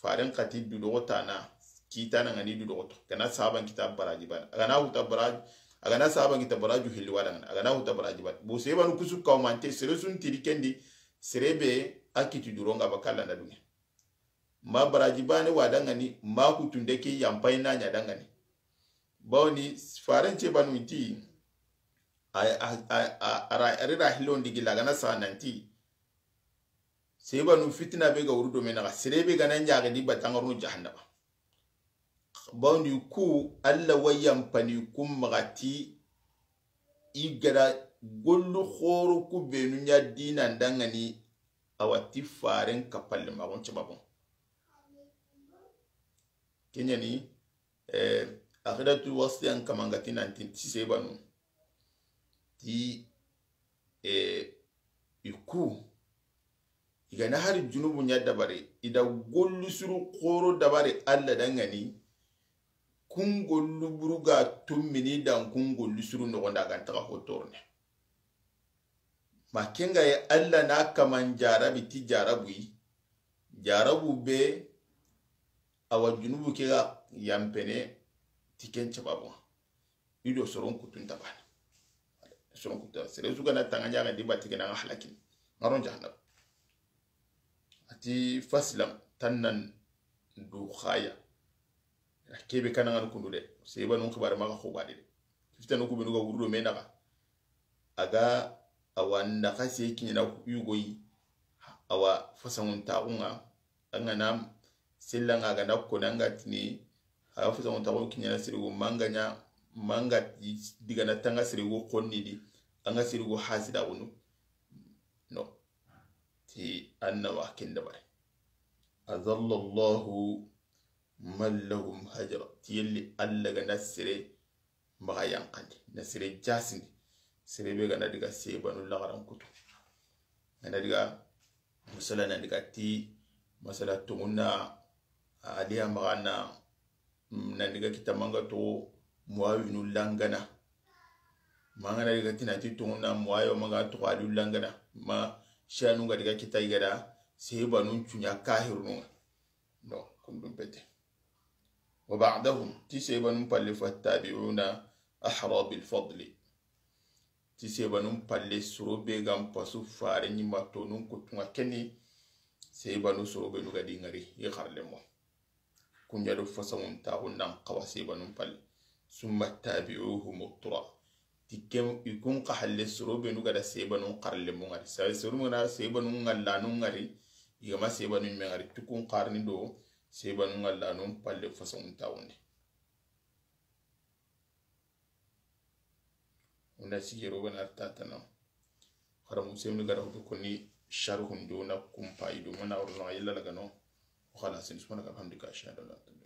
Faren xati du doxotana kitana ŋani du doxoto. Ga na sahaban kita baraji bana. A ga na huta baraji, a ga na sahaban kita baraju hilli wada ŋana. A ga na huta baraji bana. Bo sebanu kusu kawmante sere sun tiri kendi sere be a kiti duronga bakalla na dunge. Ma baraji bane wa dangani, ma kutunde ke yampai na ɲa dangani. Bawni faren ce banu ti, a, a, a, a, ara, ari ra hilon digi lagana sa nanti, se banu fitina be ga wuru do me naxa, sere be ga na ɲaxe di batangarunu jahannaba. Bawni ku, Alla wa yampani ku maxa ti, i ga da gollu xoro ku benu ɲa dinan dangani, a wa ti faren kapalle maxon cebabon. Keɲani, eh, axidatu wasiyan kamangati nanti ti sebanu. Ti, eh, i ku. I ga na hari junubu ɲa dabari, i da gollu suru xoro dabari Alla dangani, kun gollu buru ga tummini dan kun gollu suru noxonda ga ntaxa hotorne. Ma kenga ye Alla na kaman jarabi ti jarabu yi. Jarabu be a wa junubu ke ga yampene ti ken cababu. I do soron kutun tabana. Soron kutun sere su ga na tanga ɲaga di bati ke na halakini. Maron jahannaba. A ti fasilam tannan du xaya. Kebe kana ngana kundu de. Sebanun xibare maxa xobadi de. Fitanu ku benu ga wuru do me naxa. A ga a wa naxa se kiɲana yugoyi. A wa fasangun taxunga. An ga na sella nga ga na koni an ga tini. A ga fasangun taxu kiɲana sirigo manga ɲa, manga digana tanga sirigo xonni di. An ga sirigo hasida gunu. No. Ti anna wa ken dabari. Adallallahu man lahum hajra. Ti yelli Alla ga na sere maxa yanqandi, na sere jasindi. Sere be ga na diga sebanu laxaran kutu. Ga na diga masala na diga ti masala tungunna aliya maxa na, mm, na diga kita manga to muawinu langana. Manga na diga tina ti tungunna muayo manga to aliyu langana. Ma shanu ga diga kita i ga da sebanun cuɲa kahirununga. No, kundum pete. Wa ba'dahum, ti sebanun palle fattabi'una ahra bil fadli. Ti sebanun palle soro be gan pasu fare ɲima tonun kutunga keni sebanu soro be nu ga di ngari i xarle mo. Kuɲa do fasangun taxu nan xawa sebanun palle. Summa tabi'uhum tura. Ti ken i kun xa halle soro be nu ga da sebanun xarle mo ngari. Sa soro mu na sebanun ngallanu ngari. I ga ma sebanun me ngari tukun xarni do sebanun ngallanu palle fasangun taxundi. Wona sijero gana tatana. Xara musemni gara hudu koni sharhun do na kumpa ido mana wurno yalla lagano. Xala sin subhanaka alhamdulillah ashhadu an la ilaha illa anta